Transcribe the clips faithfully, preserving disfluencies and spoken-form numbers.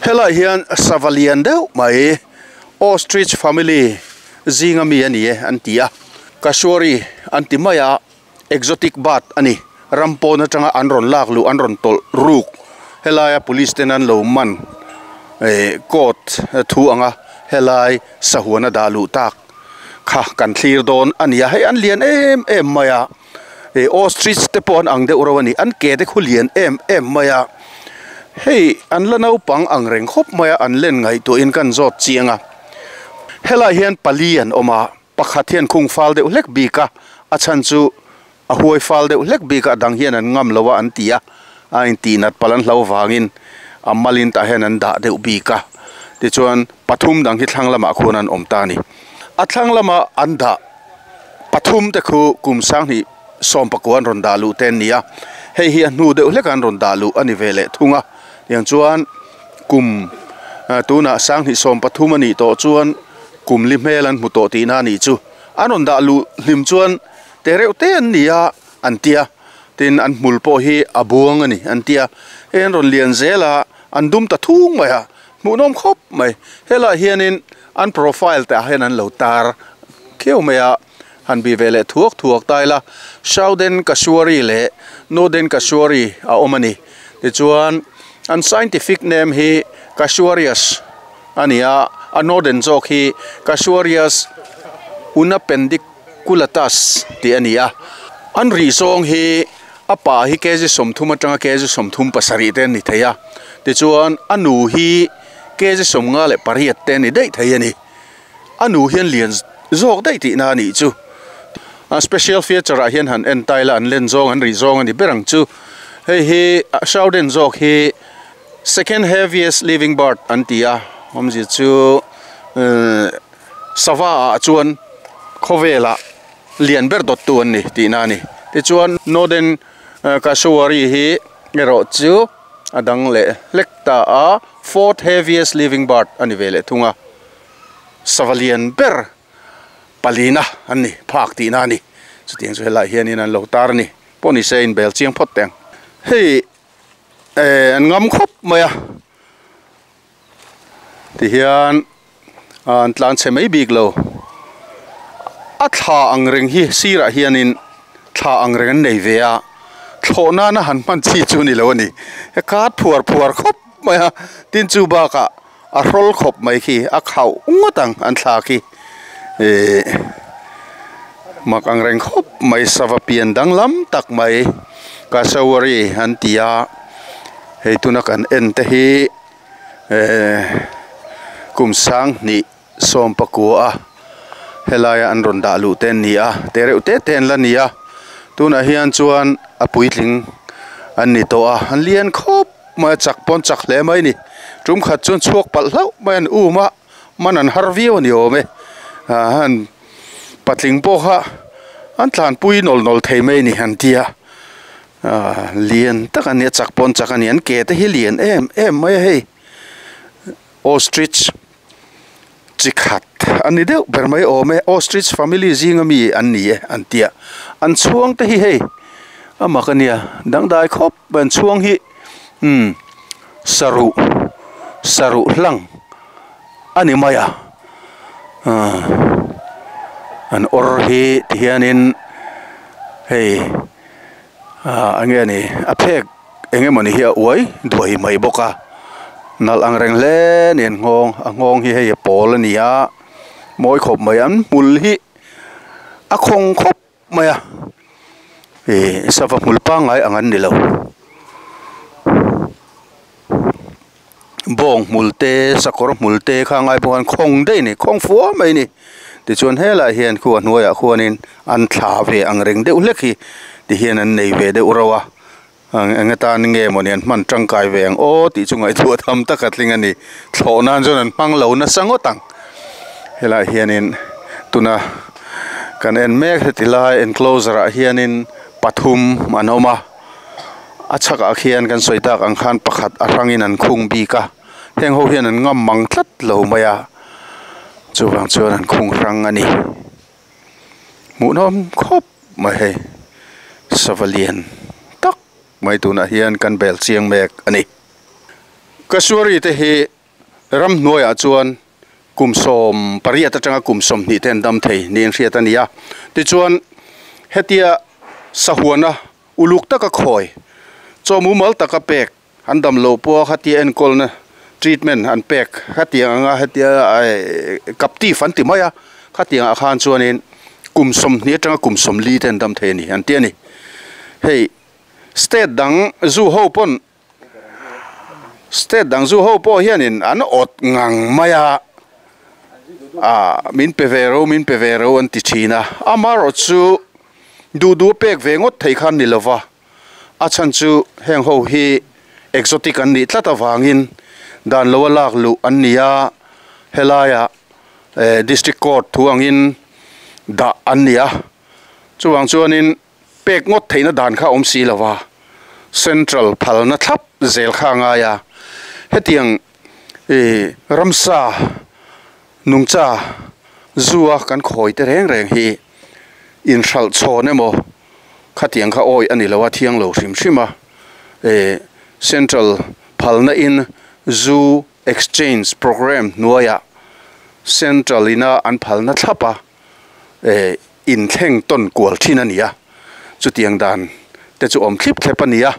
Helai hian savalian deuh mai ostrich family zinga mi ani e an ti a cassowary an ti mai a exotic bird ani rampon atanga an rawn lak lu an rawn tawlh ruk helaia police ten an lo man eh court thu anga helai sahuan a dah luh tak kha kan thlir dawn ani a hei an lian em em mai a eh ostrich te pawh an ang deuh ro ani an ke te khu lian em em mai a hei an la naupang ang reng khawp mai a an len ngaih tuah in kan zawt chiang a helai hian pali an awm a pakhat hian khung fal deuh hlek bik a a chhan chu a huai fal deuh hlek bik a dang hian an ngam lo a an ti a a in tih nat pal an hlo wangin a malin tah hian an dah deuh bik a tichuan pathum dang hi thlang lamah khuan an awm ta a ni a thlang lama an dah pathum te khu kum sanghnih sawm pakua an rawn dah luh te an ni a hei hi a hnu deuh hlek an rawn dah luh a ni ve leh thung a tiang chuan kum tunah sanghnih sawm pathum a nih tawh chuan kum li hmel an hmu tawh tihna a nih chu an rawn dah luh hlim chuan te reuh te an ni a an tia tin an hmul pawh hi a buang a ni an tia hei an rawn lian zel a an dum ta thung mai a hmuhnawm khawp mai helai hianin an profile te ah hian an lo tar kheu mai a han bi ve leh thuak thuak tai la southern cassowary leh northern cassowary a awm a ni tichuan an scientific name hi casuarius ani a a northern zawk hi casuarius unapendiculatus tih ani a an ri zawng hi a pa hi kg sawmthum atanga kg sawmthum pasarih te an ni thei a tichuan a nu hi kg sawmnga leh pariat te ani daih thei ani a nu hian lian zawk daih tihna a nih chu a special feature ah hian han en taila an len zawng an ri zawng ani berang chu hei hi southern zawk hi second heaviest living bird an ti a awmzia chu sava ah chuan khawvela lian ber dawt tu an ni tihna a ni tichuan northern cassowary hi erawh chu a dang leh hlek ta a fourth heaviest living bird ani ve leh thung a savalian ber palina an ni phak tihna a ni chutiang chu helai hianin an lo tar a ni pawh ni se in bel chiang phawt teng hei eh an ngam khawp mai a tihian an tlan chhe mai bik lo a thla ang reng hi sirah hianin thla ang reng an nei ve a thlawh nana han hman chi chu ni lo ani he kat phuar phuar khawp mai a tin chu bakah a hrawl khawp mai khi a khauh ngawt ang an thla khi eh mak ang reng khawp mai sava pian danglam tak mai cassowary an ti a hei tuna kan en te hi eh kum sanghnih sawm pakua a helaia an rawn dah luh te an ni a te reuh te te an la ni a tunah hian chuan a puitling an ni tawh a an lian khawp mai a chak pawn chak hle mai ni tum khat chuan chhuak palh hlauh mai an um a man an har viau ani awm e ah an patling pawh kha an tlanpui nawl nawl thei mai ni an tia ah lian tak ani a chak pawn chak ani an ke te hi lian em em mai a hei ostrich chi khat ani deuh ber mai awm e ostrich family zinga mi an ni e an tia an chhuang te hi hei amak ania dangdai khawp an chhuang hi um saruh saruh hlang ani mai a ah an awr hi tihianin hei ah enge ani a phek engemawni hi a uai duai mai bawk a nalh ang reng hle ani an nghawng a nghawng hi hei a pawl ani a mawi khawp mai an hmul hi a khawng khawp mai a ih sava hmul pangngai ang an ni lo bawng hmul te sakawr hmul te kha ngai bawk an khawng daih a ni khawng fua mai a ni tichuan helai hian khu a hnuaiah khuanin an thla ve ang reng deuh hlek hi tihian an nei ve deuh reuh a eng atan nge mawni an hman tangkai ve ang aw tih chu ngaihtuah tham tak a tling a ni thlawh nan chuan an hmang lo nasa ngawt ang helai hianin tuna kan en mek heti lai enclosure ah hianin pathum an awm a a chhakah khian kan sawi tak ang khan pakhat a hrangin an khung bik a heng ho hian an ngam mang tlat lo mai a chuwang chuan an khung hrang a ni hmuhnawm khawp mai hei savalian tak mai tunah hian kan bel chiang mek a ni. Cassowary te hi ramhnuaiah chuan kum sawm pariat atanga kum sawmhnih te an dam thei niin hriat a ni a. Tichuan hetia sahuana uluk taka khawi chaw mumal taka pek an dam lo pawh khatia enkawlna treatment an pek khatiang anga hetia captive an ti mai a khatiang ah khan chuanin kum sawmhnih atanga kum sawmli te an dam thei a ni an ti a ni. Hei state dang zu ho pawn state dang zu ho pawh hianin an awt ngang mai a ah min pe ve ro min pe ve ro an ti thin a amaherawh chu duh duh pek ve ngawt thei khan ni lova a chhan chu heng ho hi exotic an nih tlat avangin dan lo a lak luh an ni a helaiah eh district court thu angin dah an ni a chuwang chuanin pek ngawt theihna dan kha awm si lova central phalna thlap zel kha a ngai a hetiang ih ramsa nungcha zua kan khawi te reng reng hi inhralh chhawn emaw khatiang kha awi a ni lo a thiang lo hrim hrim a eh central phalna in zu exchange program hnuaiah central ina an phalna thlap a eh inthleng tawn kual thin a ni a chutiang dan te chu awm thlip thlep a ni a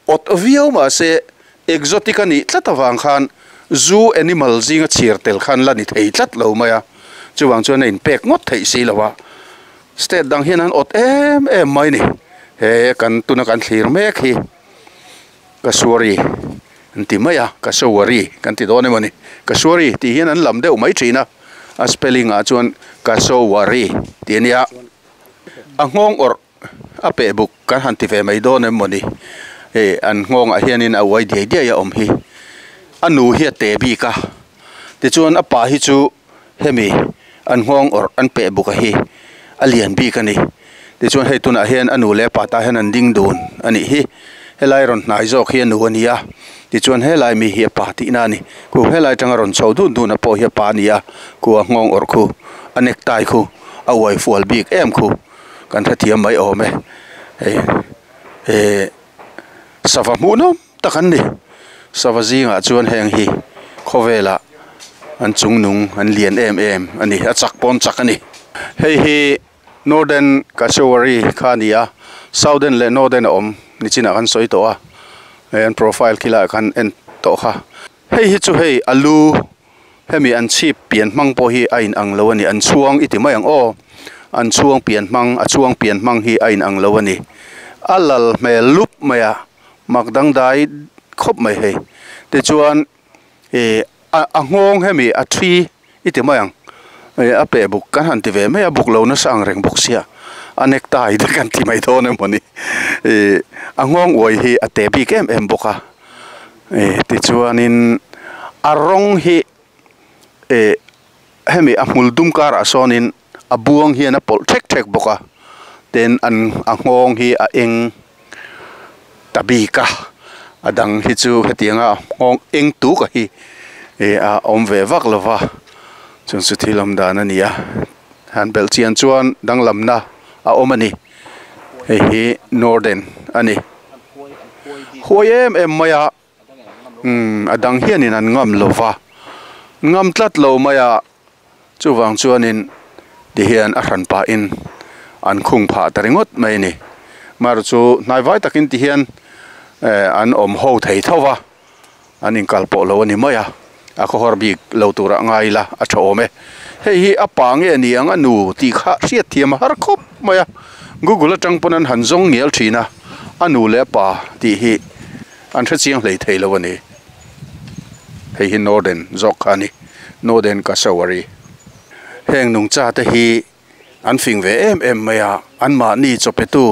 awt viau mahse exotic a nih tlat avang khan zu animal zinga chhir tel khan la ni thei tlat lo mai a chuwang chuan a inpek ngawt theih si lo a state dang hian an awt em em mai ni he kan tuna kan thlir mek hi cassowary an ti mai a cassowary kan ti dawn emaw ni cassowary tih hian an lam deuh mai thin a a spelling ah chuan cassowary tih a nia a nghawng awrh a peh buk kan han ti ve mai dawn emaw ni hei an nghawngah hianin a uai diai diai a awm hi a nu hi a te bik a tichuan a pa hi chu hemi an nghawng awrh an peh buk a hi a lian bik a ni tichuan hei tunah hian a nu leh a pa tah hian an ding dun a nih hi helai rawn hnai zawk hi a nu a ni a tichuan helai mi hi a pa tihna a ni khu helai atanga rawn chho dun dun a pawh hi a pa a ni a khu a nghawng awrh khu a necktie khu a uai fual bik em khu kan hrethiam mai awm e hei eh sava hmuh nawm tak an ni sava zingah chuan heng hi khawvelah an chung nung an lian em em a ni a chak pawn chak a ni hei hi northern cassowary kha a ni a southern leh northern a awm nichinah kan sawi tawh a hei an profile khi laiah khan en tawh kha hei hi chu hei alu hemi an chhip pian hmang pawh hi a in ang lo a ni an chhuang i ti mai ang aw an chhuang pian hmang a chhuang pian hmang hi a in ang lo a ni a lal hmel lup mai a mak dangdai khawp mai hei tichuan ih a nghawng hemi a thi i ti mai ang ih a peh buk kan han ti ve mai a buk lo nasa ang reng bawk sia a necktie te kan ti mai dawn emaw ni ih a nghawng uai hi a te bik em em bawk a ih tichuanin a rawng hi ih hemi a hmul dum karah sawnin a buang hian a pawlh thek thek bawk a ten an a nghawng hi a eng ta bik a a dang hi chu hetianga nghawng eng tuk a hi ih a awm ve vak lova chung chu thil awm dan a ni a han belh chian chuan danglamna a awm a ni hei hi northern a ni huai em em mai a umm a dang hianin an ngam lova ngam tlat lo mai a chuwang chuanin tihian a hran pahin an khung phah ta ringawt mai a ni mar chu hnai vai takin tihian eh an awm ho thei tho va an inkal pawh lo a ni mai a a khawhar bik lo turah ngai ila a tha awm e hei hi a pa nge ni ang a nu tih kha hriat thiam a har khawp mai a google atang pawn an han zawng ngial thin a a nu leh a pa tih hi an hre chiang hlei thei lo a ni hei hi northern zawk kha a ni northern cassowary heng nungcha te hi an fing ve em em mai a an mahni chawpetu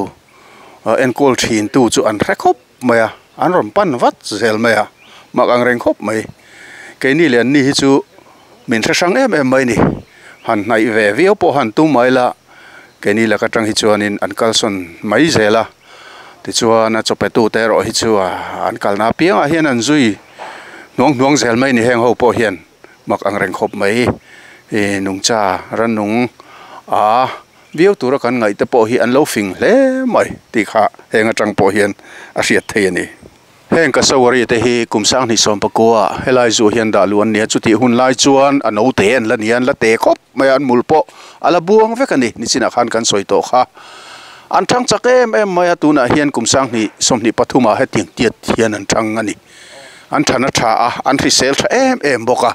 enkawl thin tu chu an hre khawp mai a an rawn pan vat zel mai a mak ang reng khawp mai keini leh an ni hi chu min hre hrang em em mai ni han hnaih ve viau pawh han tum mai la keini laka tang hi chuanin an kalsawn mai zel a tichuan a chawpetu te erawh hi chu an kalna apiangah hian an zui hnuang hnuang zel mai ni heng ho pawh hian mak ang reng khawp mai ih nungcha rannung a viau tura kan ngaih te pawh hi an lo fing hle mai tih kha heng atang pawh hian a hriat thei a ni. Heng kasawari te hi kumsang ni som pakua helai zu hian dah luan nia chuti hun lai chuan a no te an la nian la te khop mai an mulpo ala buang vek ani nichina khan kan soi to kha an thang chak em em mai a tuna hian kumsang ni somni pathuma he tiang tiat hian an thang ani an thana tha a an hrisel tha em em boka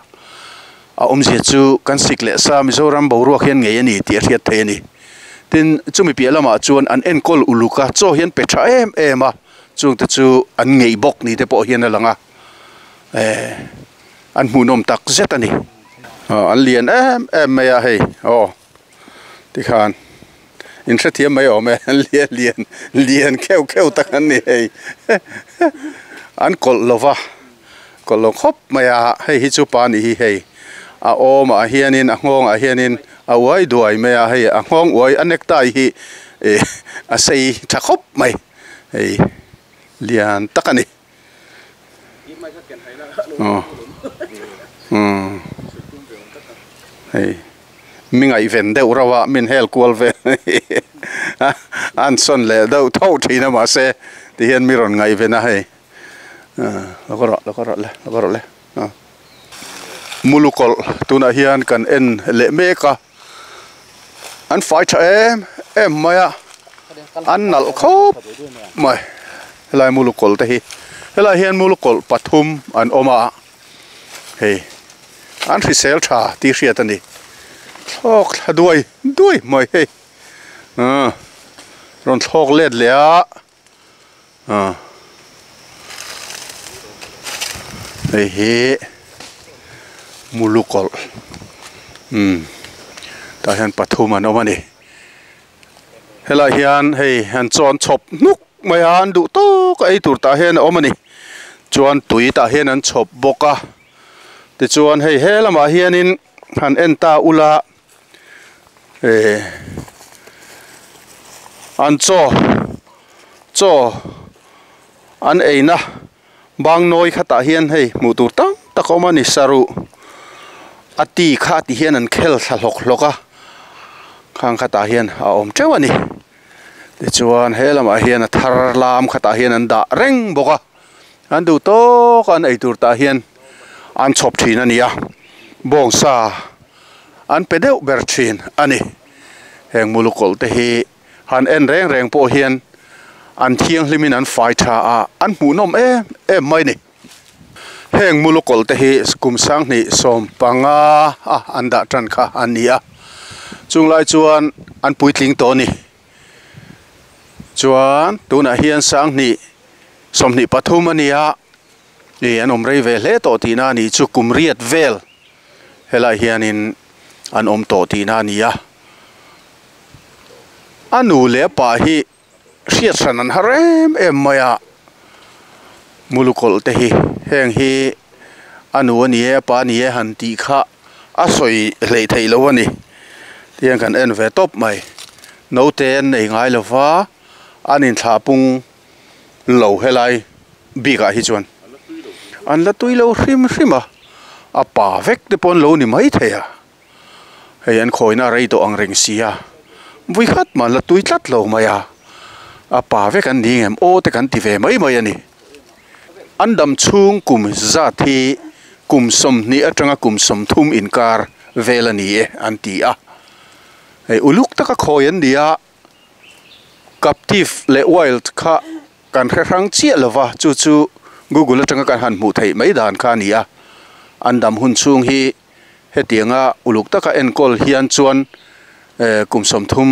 a awmzia chu kan sik leh sa Mizoram boruak hian ngei ani tih a hriat thei ani tin chumi piah lamah chuan an enkawl uluka chaw hian pe tha em em a chung te chu an ngei bawk ni te pawh hian a lang a eh an hmuhnawm tak zet ani an lian em em mai a hei aw tikhan in hre thiam mai awm e an lian lian lian kheuh kheuh tak an ni hei an kawlh lova kawlh lo khawp mai a hei hi chu pa ni hi hei a awmah hianin a nghawngah hianin a uai duai mai a hei a nghawng uai a necktie hi eh a sei tha khawp mai hei lian tak ani oh um hei mingai ven deuh rawa min hel kual ve an son le deuh tho thina ma se ti hian mi rawn ngai vena hei lo ka rawh lo ka rawh le lo ka rawh le mulukawlh tunah hian kan en leh mek a an fai tha em em mai a an nalh khawp mai helai mulukawlh te hi helai hian mulukawlh pathum an awm a hei an hrisel tha tih hriat ani thlawk thla duai duai mai hei rawn thlawk let leh a hei hi mulukawlh um tah hian pathum an awm ani helai hian hei an chawn chhawp hnuk mai a an duh tawk a ei tur tah hian a awm ani chuan tui tah hian an chhawp bawk a tichuan hei he lamah hianin han en ta ula eh an chaw chaw an eina bang nawi khatah hian hei hmuh tur tam tak a awm ani saruh a ti kha ti hian an khel thla hlawk hlawk a khang khatah hian a awm teuh ani tichuan he lamah hian a thar lam khatah hian an dah reng bawk a an duh tawk an ei tur tah hian an chhawp thin ani a bawngsa an pe deuh ber thin ani heng mulukawlh te hi han en reng reng pawh hian an thianghlimin an fai tha a an hmuhnawm em em mai ni heng mulukawlh te hi kumsang hnih sawm panga a an dah tan kha an ni a chunglai chuan an puitling tawh ani chuan tunah hian sang hnih sawmhnih pathum ani a ni an awm rei ve hle tawh tihna ani chu kum riat vel helai hianin an awm tawh tihna ani a a nu leh pa hi hriat hran an har em em mai a mulukawlh te hi heng hi a nu ani e a pa ani e han tih kha a sawi hleih theih lo ani tihian kan en ve tawp mai naute an nei ngai lova an inthlah pung lo helai bikah hi chuan an la tui lo hrim hrim a a pa vek te pawh an lo ni mai thei a hei an khawina rei tawh ang reng si a vui khat mah an la tui tlat lo mai a a pa vek an ni ngem aw te kan ti ve mai mai ani an dam chhung kum zat hi kum sawmhnih atanga kum sawmthum inkar vel ani e an ti a hei uluk taka khawi an ni a captive leh wild kha kan hre hrang chiah lova chu chu Google atanga kan han hmuh theih mai dan kha ani a an dam hun chhung hi hetianga uluk taka enkawl hian chuan eh kum sawmthum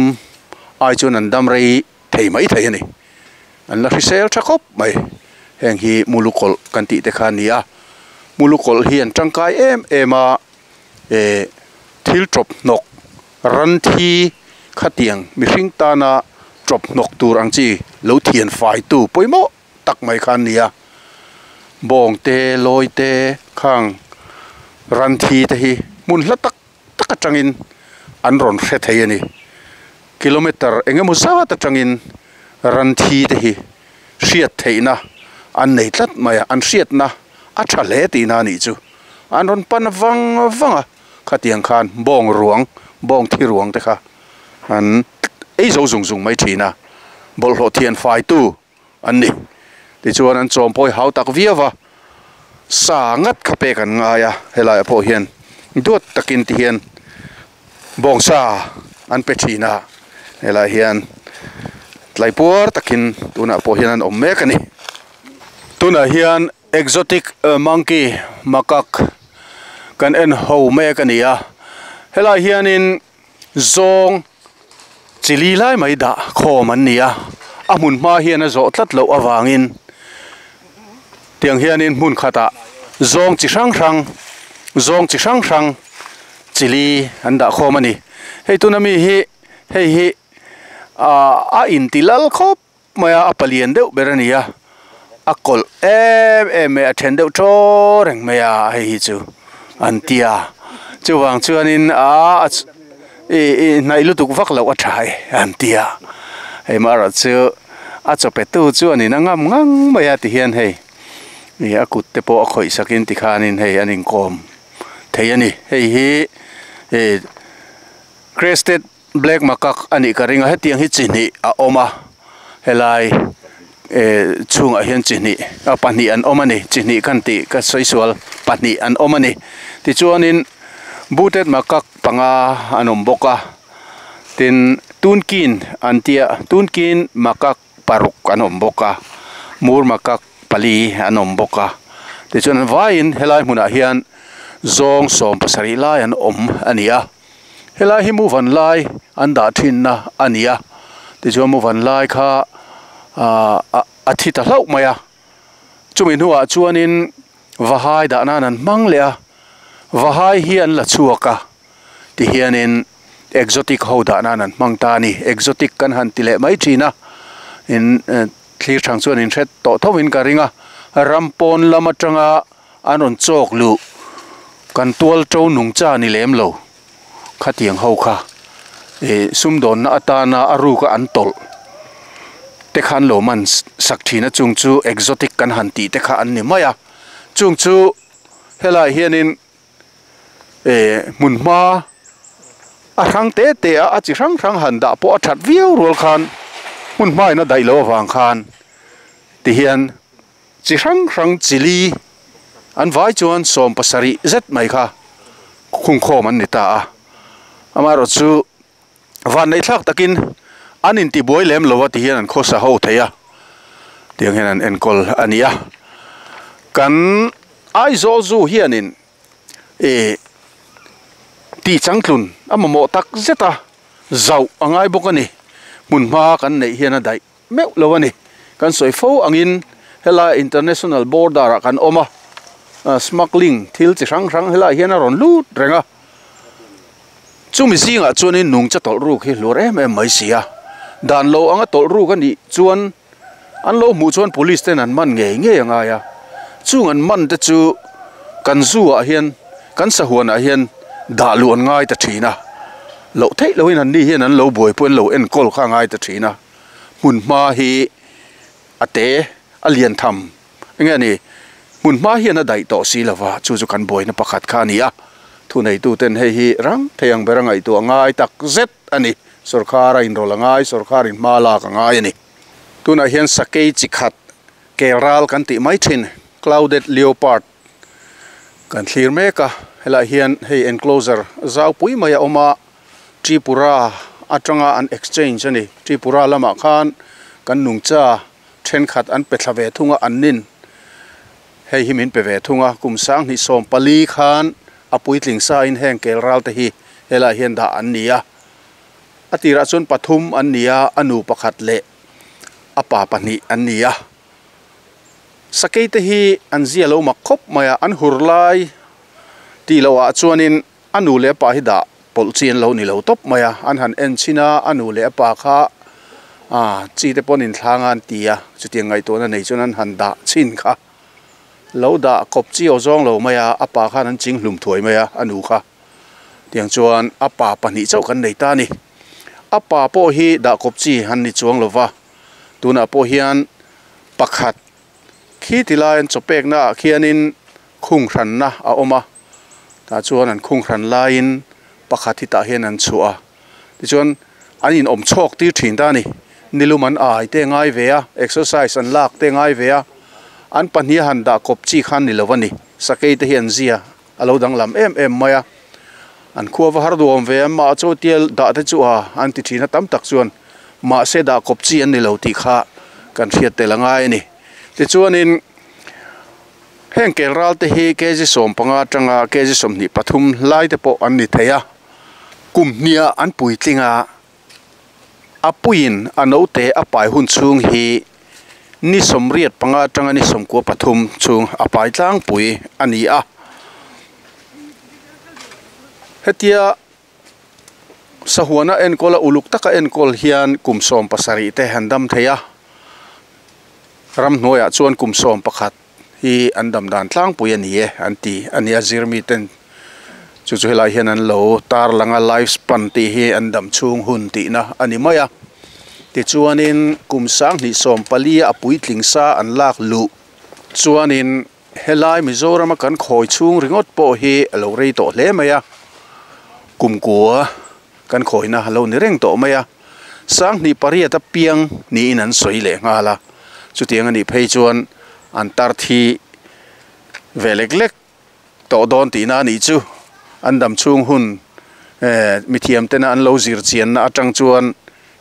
ai chuan an dam rei thei mai thei ani an la hrisel tha khawp mai heng hi mulukawlh kan tih te kha ani a mulukawlh hi an tangkai em em a eh thil tawp hnawk ran thi khatiang mihring tana tawp hnawk tur ang chi lo thian fai tu pawimawh tak mai kha ani a bawng te lawi te khang ran thi te hi hmun hla tak tak atangin an rawn hre thei ani kilometer engemaw zat atangin ran thi te hi hriat theihna an nei tlat mai a an hriatna a tha hle tihna ani chu an rawn pan vang vang a khatiang khan bawng ruang bawng thi ruang te kha an ei zo zung zung mai thina bawlhhlawh thian fai tu an ni Tichuan an chawm pawh hi hau tak viau a, sa ngat kha pek an ngai a, helai ah pawh hian duat takin ti hian bawngsa an pe thin a, helai hian tlaipuar takin tunah pawh hian an awm mek a ni. Tunah hian exotic monkey macaque kan en ho mek a ni a, helai hianin zawng chili lai mai dah khawm an ni a, a hmun hma hian a zawh tlat loh avangin tiang hianin hmun khatah zawng chi hrang hrang zawng chi hrang hrang chili an dah khawm a ni. Hei tuna mi hi hei hi ah a inti lal khawp mai a, a palian deuh ber a ni a, a kawlh em em mai a then deuh tawr reng mai a hei hi chu an tia chuvang chuanin ah ih ih hnaih lutuk vak loh a tha e an tia hei marawh chu a chawpe tu chuanin a ngam ngang mai a tihian hei ih a kut te pawh a khawih sakin tikhanin hei an inkawm thei a ni. Hei hi ih crested black macaque a nih ka ring a, hetiang hi chi hnih a awm a, helai eh chhungah hian chi hnih a pahnih an awm a ni, chi hnih khan tih ka sawi sual pahnih an awm a ni. Tichuanin booted macaque panga an awm bawk a, tin tunkin an tia tunkin macaque paruk an awm bawk a, mur macaque pali an awm bawk a, tichuan an vaiin helai hmunah hian zawng sawm pasarih lai an awm a ni a, helai hi muvan lai an dah thinna a ni a, tichuan muvan lai kha ah a thi ta hlauh mai a, chumi hnuah chuanin vahai dah nan an hmang leh a, vahai hi an la chhuak a, tihianin exotic ho dah nan an hmang ta a ni. Exotic kan han ti leh mai thin a, in thlir thang chuan in hret tawh thovin ka ring a, ram pawn lam atanga an rawn chawk luh kan tual to nung cha ni lem lo khatiang ho kha ih sumdawnna atana a ruka an tawlh te kha an lo man sak thin a, chung chu exotic kan han tih te kha an ni mai a, chung chu helai hianin eh hmun hma a hrang te te a a chi hrang hrang han dah pawh a that viau rual khan hmun hma in a daih loh avang khan tihian chi hrang hrang chili an vai chuan sawm pasarih zet mai kha khung khawm an ni ta a, amaherawh chu van nei thlak takin an inti buai lem lo a tihian an khawsa ho thei a, tiang hian an enkawl a ni a. Kan Aizawl Zoo hianin eh tih changtlun a mamawh tak zet a, zauh a ngai bawk a ni, hmun hma kan neih hian a daih meuh lo a ni. Kan sawi fo angin helai international border ah kan awm a, smuggling thil chi hrang hrang helai hian a rawn lut reng a, chumi zingah chuanin nungcha tawlh ruk hi hluar em em mai si a, dan lo anga tawlh ruk a nih chuan an lo hmuh chuan police ten an man ngei ngei a ngai a, chung an man te chu kan zoo ah hian kan sahuanah hian dah luh an ngai ta thin a, loh theih loin an ni hian an lo buaipui an lo enkawl kha a ngai ta thin a, hmun hma hi a te a lian tham enge a ni, hmun hma hian a daih tawh si lova chu chu kan buaina pakhat kha a ni a, thu neitu ten hei hi rang thei ang ber a ngaihtuah ngai tak zet a ni, sorkar a inrawlh a ngai, sorkar in hma lak a ngai a ni. Tunah hian sakei chi khat kelral kan tih mai thin clouded leopard kan thlir mek a, helai hian hei enclosure zau pui mai a awm a, Tripura atanga an exchange a ni, Tripura lamah khan kan nungcha thenkhat an pe thla ve thung a, an nin hei hi min pe ve thung a, kum sang hnih sawm pali khan a puitling sa in heng kelral te hi helai hian dah an ni a, a tirah chuan pathum an ni a, a nu pakhat leh a pa pahnih an ni a, sakei te hi an zia lo mak khawp mai a, an hur lai tih loh ah chuanin a nu leh a pa hi dah pawlh chi an lo ni lo tawp mai a, an han en chhin a, a nu leh a pa kha ah chi te pawn inthlanga an ti a, chutiang ngaihtuahna nei chuan an han dah chhin kha lo dah kawp chi aw zawng lo mai a, a pa khan an ching hlum thuai mai a, a nu kha tiang chuan a pa pahnih chauh kan nei ta a ni. A pa pawh hi dah kawp chi han ni chuang lova, tunah pawh hian pakhat khi tilai an chawpekna ah khianin khung hranna a awm a, tah chuan an khung hran laiin pakhat hi tah hian an chhuah a, tichuan an in awm chhawk tir thin ta a ni, nilum an ai te ngai ve a, exercise an lak te ngai ve a. An pahnih a han dah kawp chi khan ni lo a ni. Sakei te hi an zia a lo danglam em em mai a. An khua va har duhawm ve a, mah chu tial dah te chu a an ti thin a tam tak chuan mahse dah kawp chi an ni lo tih kha kan hriat tel a ngai a ni. Tichuanin heng kel ral te hi kg sawm panga atanga kg sawmhnih pathum lai te pawh an ni thei a. Kum hniah an puitling a, a puiin a naute a pai hun chhung hi ni sawmriat panga atanga ni sawmkua pathum chhung a pai tlangpui a ni a. Hetia sahuana enkawl a uluk taka enkawl hian kum sawm pasarih te han dam thei a, ramhnuaiah chuan kum sawm pakhat hi an dam dan tlangpui a ni e an ti a ni a, zirmi ten chu chu helai hian an lo tar langa life span tih hi an dam chhung hun tihna a ni mai a. Tichuanin kum sang hnih sawm pali a puitling sa an lak luh chuanin helai Mizorama kan khawi chhung ringawt pawh hi a lo rei tawh hle mai a, kumkua kan khawina a lo ni reng tawh mai a, sang hnih pariat a piang niin an sawi leh nghal a. Chutiang a nih phei chuan an tar thi ve lek lek tawh dawn tihna a nih chu. An dam chhung hun eh mithiam tena an lo zir chianna atang chuan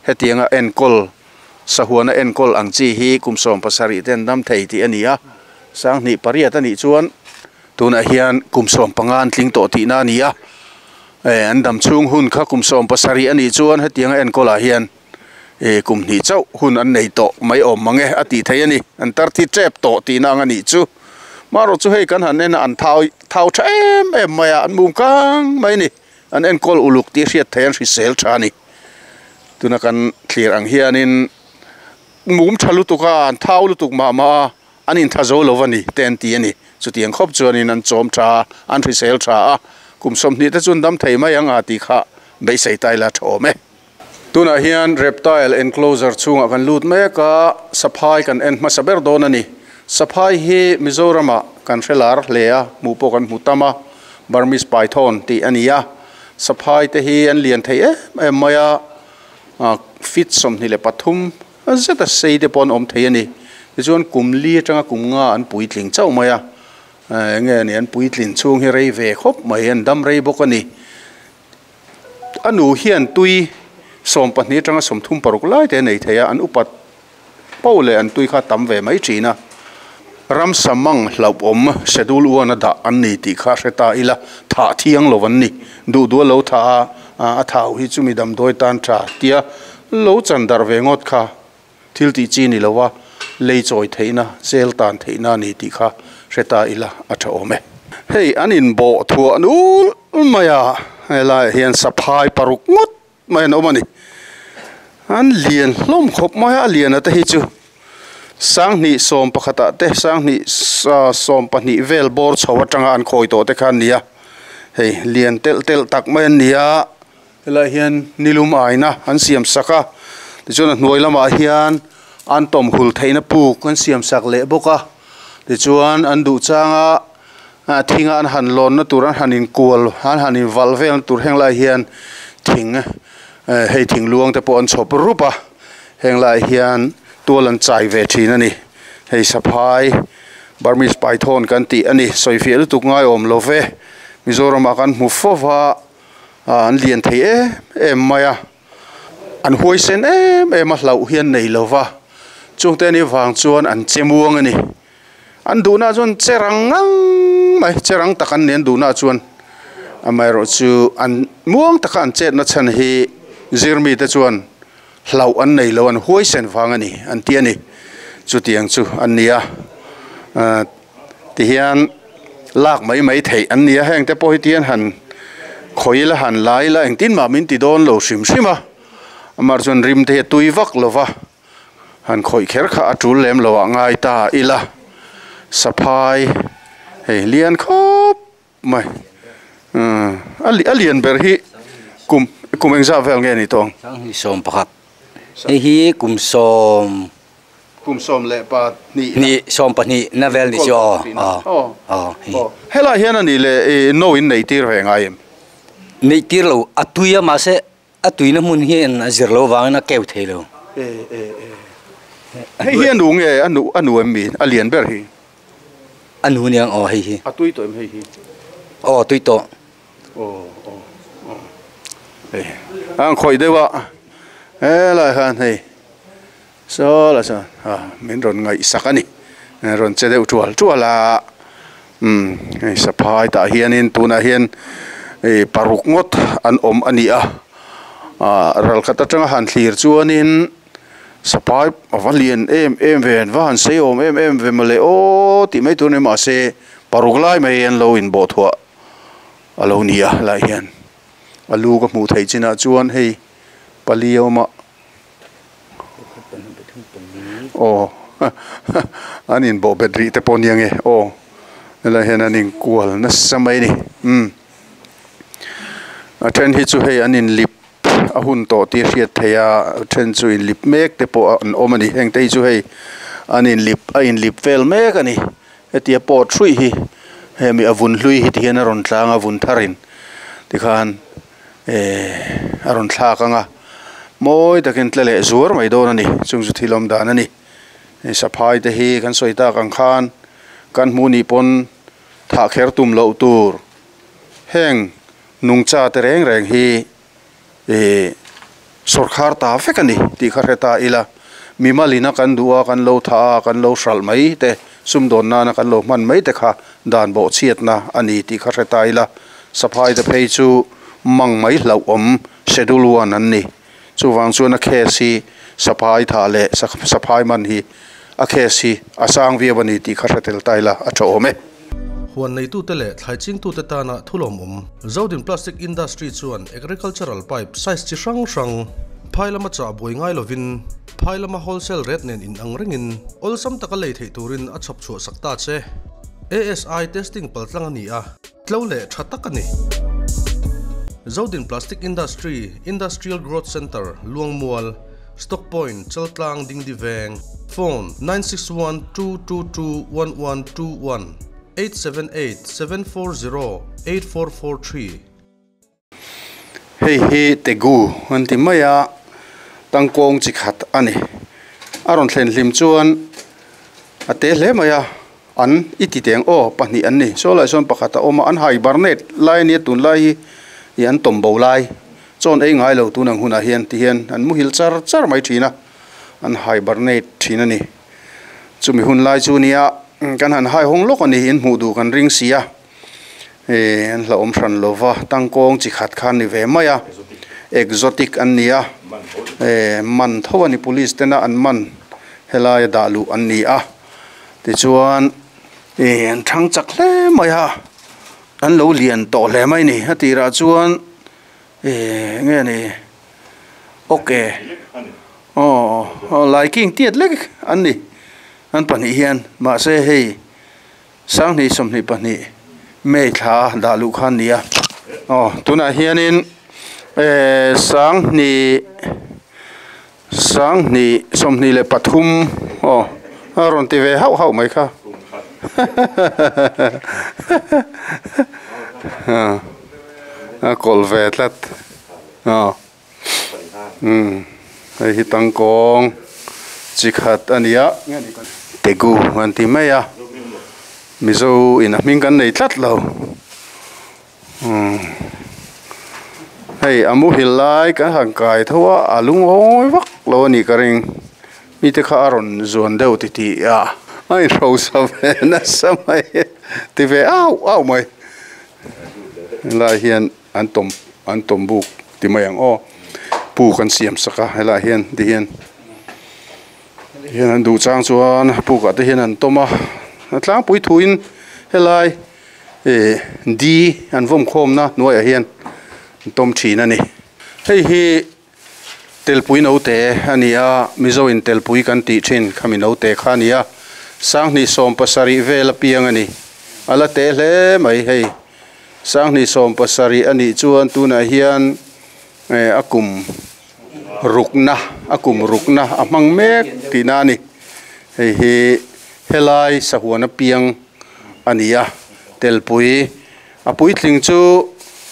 hetianga enkawl sahuana enkawl ang chi hi kum sawm pasarih te an dam thei tih a ni a, sang hnih pariat a nih chuan tunah hian kum sawm panga an tling tawh tihna a ni a. Eh an dam chhung hun kha kum sawm pasarih a nih chuan hetianga enkawlah hian eh kum hnih chauh hun an nei tawh mai awm mang e a tih thei a ni. An tar thi tep tawh tihna ang a nih chu. Marawh chu hei kan han en a an thau thau tha em em mai a, an mum kang mai a ni. An enkawl uluk tih hriat thei an hrisel tha a ni. Tuna kan thlir ang hianin mum tha lutuk a, an thau lutuk mah mah a, an intha zo lo a ni te an ti a ni. Chutiang khawp chuanin an chawm tha a, an hrisel tha a, kum sawmhnih te chuan dam thei mai ang a tih kha beisei tai la tha awm e. Tunah hian reptile enclosure chhungah kan lut mek a, saphai kan en hmasa ber dawn a ni. Saphai hi Mizorama kan hre lar hle a, hmuh pawh kan hmu tam a, Burmese python tih a ni a. Saphai te hi an lian thei em em mai a, feet sawmhnih leh pathum zet a sei te pawh an awm thei a ni. Tichuan kum li atanga kum nga an puitling chauh mai a, enge ni an puitlin chhung hi rei ve khawp mai, an dam rei bawk a ni. A nu hian tui sawm pahnih atanga sawmthum paruk lai te nei thei a, an upat po leh an tui kha tam ve mai thin a. Ramsa mang hlauhawm schedule one a dah an ni tih kha hre ta ila, thah thiang lo an ni. Duh duh a lo thah a, a thau hi chumi damdawi tan tha tia lo chan darh ve ngawt kha thil tih chi ni lo a, lei chawi theihna zel tan theihna a ni tih kha hre ta ila a tha awm e. Hei an inbawh thuah nul mai a, helaiah hian saphai paruk ngawt mai an awm a ni. An lian hlawm khawp mai a, a lian a te hi chu sang hnih sawm pakhatah te sang hnih sawm pahnih vel bawr chho atanga an khawi tawh te kha an ni a. Hei lian telh telh tak mai an ni a, helaiah hian nilum aina an siam sak a, tichuan a hnuai lamah hian an tawm hul theihna puk an siam sak leh bawk a. Tichuan an duh changa thinga an han lawnna tur an han inkual an han invalh velna tur heng lai hian thing hei thing luang te pawh an chhawp rup a, heng lai hian tual an chai ve thin a ni. Hei saphai Burmese python kan tih a ni, sawifiah lutuk ngai awm lo ve. Mizorama kan hmu fova an lian thei em em mai a, an huaisen em em a hlauh hian nei lova, chungte ni vang chuan an che muang a ni. An duhna chuan cherang ngang mai, cherang tak an ni an duhna chuan. Amaherawh chu an muang taka an chetna chhan hi zirmi te chuan hlauh an nei lo, an huaisen vang a ni an ti a ni. Chutiang chu an ni a, tihian lak mai mai theih an ni a, heng te pawh hi tihian han khawi la han lai la engtin mah min ti dawn lo hrim hrim a. Amah chuan rim te hi a tui vak lova, han khawih kher kha a tul lem lo ah ngai ta ila. Saphai hei lian khawp mai, a lian ber hi kum kum engzah vel nge ni tawng? Sang hnih sawm pakhat. Hei hi kum sawm kum sawm leh pahnih hnih sawm pahnih na vel ni chu aw aw aw. Helai hian a nih leh no in nei tir ve ngai em? Nei tir lo, a tui a, mahse a tuina hmun hian a zir lo vangin a keu thei lo. E e e. Hei hi a nu nge a nu a nu em mi a lian ber hi? A nu niang aw hei hi. A tui tawh em hei hi? Aw tui tawh. Aw aw aw hei an khawih deuh a helai khan hei saw la chuan a min rawn ngaihsak a ni rawn che deuh tual tual a umm hei saphai tah hianin tunah hian hei paruk ngawt an awm a ni a ah ral khat atanga han thlir chuanin saphai a va lian em em ve an va han sei awm em em ve mawle aw tih mai tur a ni mahse paruk lai mai an lo inbawh thuah a lo ni a helaiah hian a lu ka hmuh theih chinah chuan hei pali a awm a aw an inbawh bet rih te pawh a nia nge aw helaiah hian an inkual nasa mai a ni umm a then hi chu hei an inlip a hun tawh tih a hriat theih a a then chu inlip mek te pawh an awm a ni heng te hi chu hei an inlip a inlip vel mek a ni hetia pawt hruih hi hemi a vun hlui hi tihian a rawn tlang a vun tharin tikhan ehh a rawn thlak ang a mawi takin tle leh zuar mai dawn a ni chung chu thil awm dan a ni hei saphai te hi kan sawi tak ang khan kan hmuh nih pawn thah kher tum loh tur heng nungcha te reng reng hi ih sawrkhar ta vek a ni tih kha hre ta ila mimalina kan duh a kan lo thah a kan lo hralh mai te sumdawn nana kan lo hman mai te kha dan bawh chhiatna a ni tih kha hre ta ila saphai te phei chu mang mai hlauh awm schedule one an ni chuvang chuan a case hi saphai thah leh saphai man hi a case hi a sang viau a ni tih kha hre tel ta ila a tha awm e. Huan neitute leh thlai chingtute tana thulawm awm Zodin Plastic Industry chuan agricultural pipe size chi hrang hrang phai lama chah buai ngai lovin phai lama wholesale rate nen in ang rengin awlsam taka lei theih turin a chhawp chhuah sak ta che. A S I testing paltlang a ni a, tlo leh tha tak a ni. Zodin Plastic Industry, Industrial Growth Centre, Luangmual, Stock Point, Chaltlang Dingdi Veng, Phone nine six one two two two one one two one, eight seven eight seven four zero eight four four three. Hei hi Tegu an ti mai a, tangkawng chi khat a ni. A rawn thlen hlim chuan a te hle mai a, an i ti teng aw pahnih an ni. Saw lai sawn pakhat a awm a, an hibernate lai a nia tun lai hi ih an tawm bo lai. Chawn ei ngai lo tun ang hunah hian ti hian an muhil char char mai thin a, an hibernate thin a ni. Chumi hun lai chu nia kan han hai hawng lawk a ni, in hmuh duh kan ring si a. Eh an hlauhawm hran lova tangkawng chi khat khan ni ve mai a, exotic an ni a, eh man tho a ni police tena an man helai a dah luh an ni a. Tichuan eh an thang chak hle mai a, an lo lian tawh hle mai ni. A tirah chuan eh nge ni okay aw aw laiking tiat lek an ni an pahnih hian mahse hei sanghnih sawmhnih pahnih May thla dah luh khan ni a. Aw tunah hianin eh sanghnih sanghnih sawmhnih leh pathum aw a rawn ti ve hauh hauh mai kha a kawlh ve tlat aw umm hei hi tangkawng chi khat a ni a Tegu an ti mai a. Mizo in a hming kan nei tlat lo. Hei a muhil lai kan han kai tho a, a lungawi vak lo a nih ka ring. Mite kha a rawn zuan deuh ti tih a, a inhrosa ve nasa mai ti ve au au mai. Helai hian an tawm an tawm buk ti mai ang aw. Puk an siam sak a helai hian ti hian hian an duh chang chuan pukah te hian an tawm a. A tlangpui thuin helai eh di an vawm khawmna hnuaiah hian an tawm thin a ni. Hei hi telpui note a ni a, Mizo in telpui kan tih thin khami note kha a ni a. Sanghnih sawm pasarih vel a piang a ni. A la te hle mai hei. Sanghnih sawm pasarih a nih chuan tunah hian eh a kum rukna a kum rukna a hmang mek tihna a ni. Hei hi helai sahuan a piang a ni a, telpui a puitling chu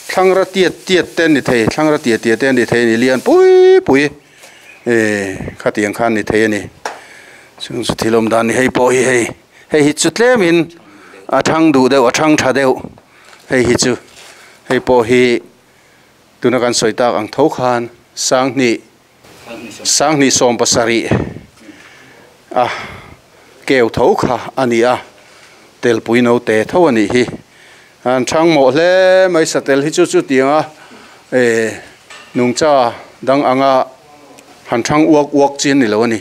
thlangra tiat tiat te an ni thei, thlangra tiat tiat te an ni thei a ni, lian pui pui eh khatiang khan ni thei a ni. Chung chu thil awm dan ni hei pawh hi hei, hei hi chu tlemin A thang du deuh a thang tha deuh hei hi chu hei pawh hi tuna kan sawi tak ang tho khan sanghnih sanghnih sawm pasarih a keu tho kha ani a telpui no te tho ani hi an thang mawh hle mai satel hi chu chu tianga e nungcha dang anga han thang uak uak chin ni lo ani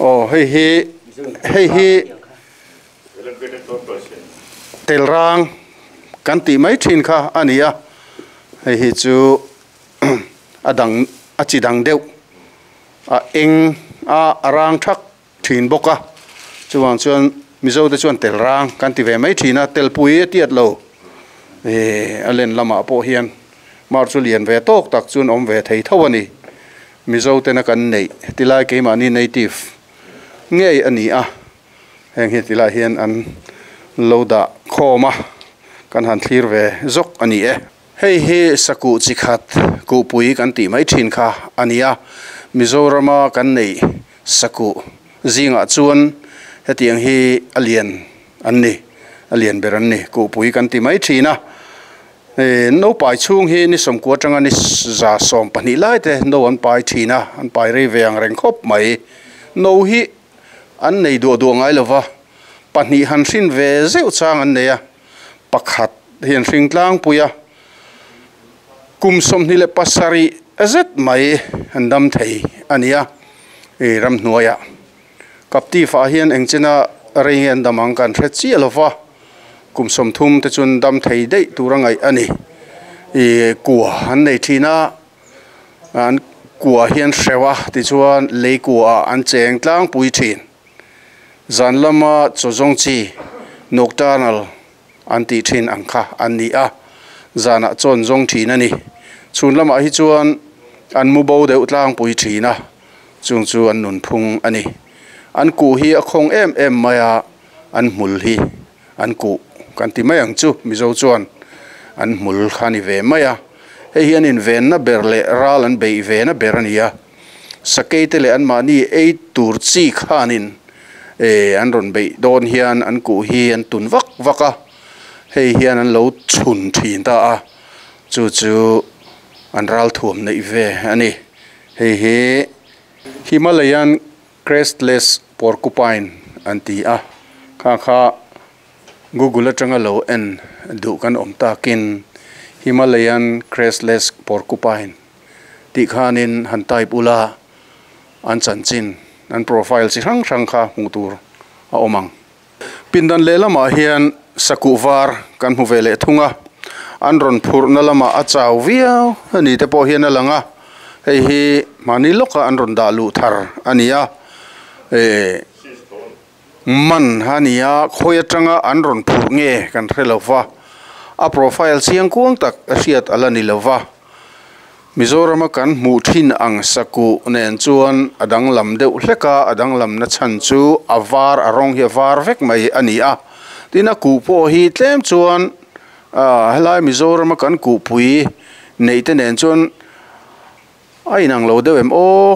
aw hei hi hei hi telrang kan ti mai thin kha ani a hei hi chu adang a chi dang deuh a eng a arang thak thin bawk a chuwang chuan mizo te chuan telrang kan ti ve mai thin a telpui a tiat lo e a len lamah pawh hian mar chu lian ve tawk tak chuan awm ve thei tho ani mizo te na kan nei tilai keimahni native ngei ani a heng hi tilai hian an lo dah khawm a kan han thlir ve zawk ani e hei hi saku chi khat kupui kan tih mai thin kha ani a Mizorama kan nei saku zingah chuan hetiang hi a lian an ni a lian ber an ni kupui kan ti mai thin a e no pai chhung hi ni sawmkua atanga ni za sawm pahnih lai te no an pai thin a an pai rei ve ang reng khawp mai no hi an nei duah duah ngai lova pahnih han hrin ve zeuh chang an nei a pakhat hian hring tlangpui a kum sawmhnih leh pasarih zet mai an dam thei ani a e ramhnuaiah kapti fa hian engchena rei nge an dam ang kan hre chiah lova kum sawmthum te chuan dam thei daih tur a ngaih ani e kua an nei thin a an kua hian hrewa tichuan lei kua an cheng tlangpui thin zan lama chawzawng chi nocturnal an tih thin ang kha an ni a zanah chawn zawng thin ani chhun lamah hi chuan an mu bo deuh tlangpui thin a chung chu an nun phung ani an ku hi a khawng em em mai a an hmul hi an ku kan ti mai ang chu mizo chuan an hmul kha ni ve mai a hei hian in venna ber leh ral an bei ve na ber ani a sakei te leh an mahni ei tur chi khanin e an rawn bei dawn hian an ku hi an tun vak vak a hei hian an lo chhun thin ta a chu chu an ral thuam nei ve ani hei hi Himalayan crestless porcupine an ti a kha kha Google atanga lo en duh kan awm takin Himalayan crestless porcupine tih khanin han type ula an chanchin an profile chi hrang hrang kha hmuh tur a awm ang pindan leh lamah hian saku var kan hmu ve leh thung a an rawn phurhna lamah a chau viau ani te pawh hian a lang a hei hi mahni lawka an rawn dah luh thar ani a e man ani a khawi atanga an rawn phurh nge kan hre lova a profile chiang kuang tak a hriat ala ni lova Mizorama kan hmuh thin ang saku nen chuan a danglam deuh hlek a a danglam na chhan chu a var a rawng hi a var vek mai ani a tin a kuh pawh hi tlem chuan a helai Mizorama kan kuhpui nei te nen chuan a inang lo deuh em aw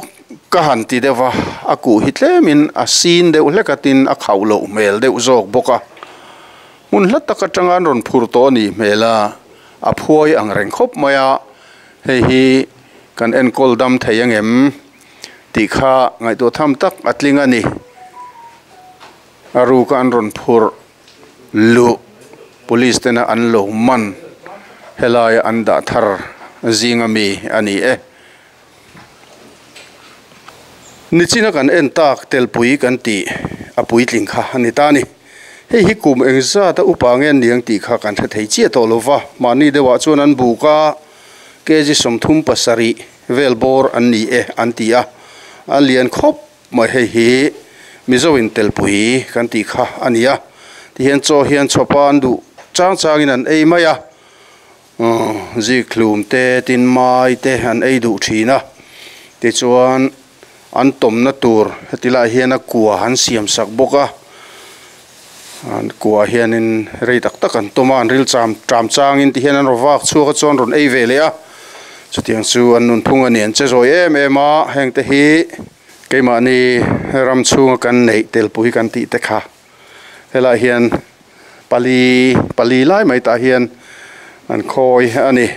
ka han ti deuh a a kuh hi tlemin a sin deuh hlek a tin a khauh loh hmel deuh zawk bawk a hmun hla tak atanga an rawn phur tawh a nih hmel a a phuai ang reng khawp mai a hei hi kan enkawl dam thei angem tih kha ngaihtuah tham tak a tling ani a ruka an rawn phur luh police tena an lo man helai an dah thar zinga mi ani e nichina kan en tak telpui kan ti a puitling kha ani ta ni hei hi kum engzat a upa nge niang tih kha kan hre thei chiah tawh lova mahni deuhah chuan an buk a kg sawmthum pasarih vel bawr an ni e an ti a a lian khawp mai hei hi mizo in telpui kan tih kha ani a tihian chaw hian chawpa an duh chang changin an ei mai a zikhlum te tin mai te an ei duh thin a tichuan an tawmna tur heti lai hian a kua han siam sak bawk a an kua hianin rei tak tak an tawm a an ril cham tram changin ti hian an raw vak chhuak a chuan rawn ei ve leh a chutiang chu an nun phung ani an che zawi em em a heng te hi keimahni ram chhunga kan neih telpui kan tih te kha helai hian Pali pali lai mai tah hian an khawi ani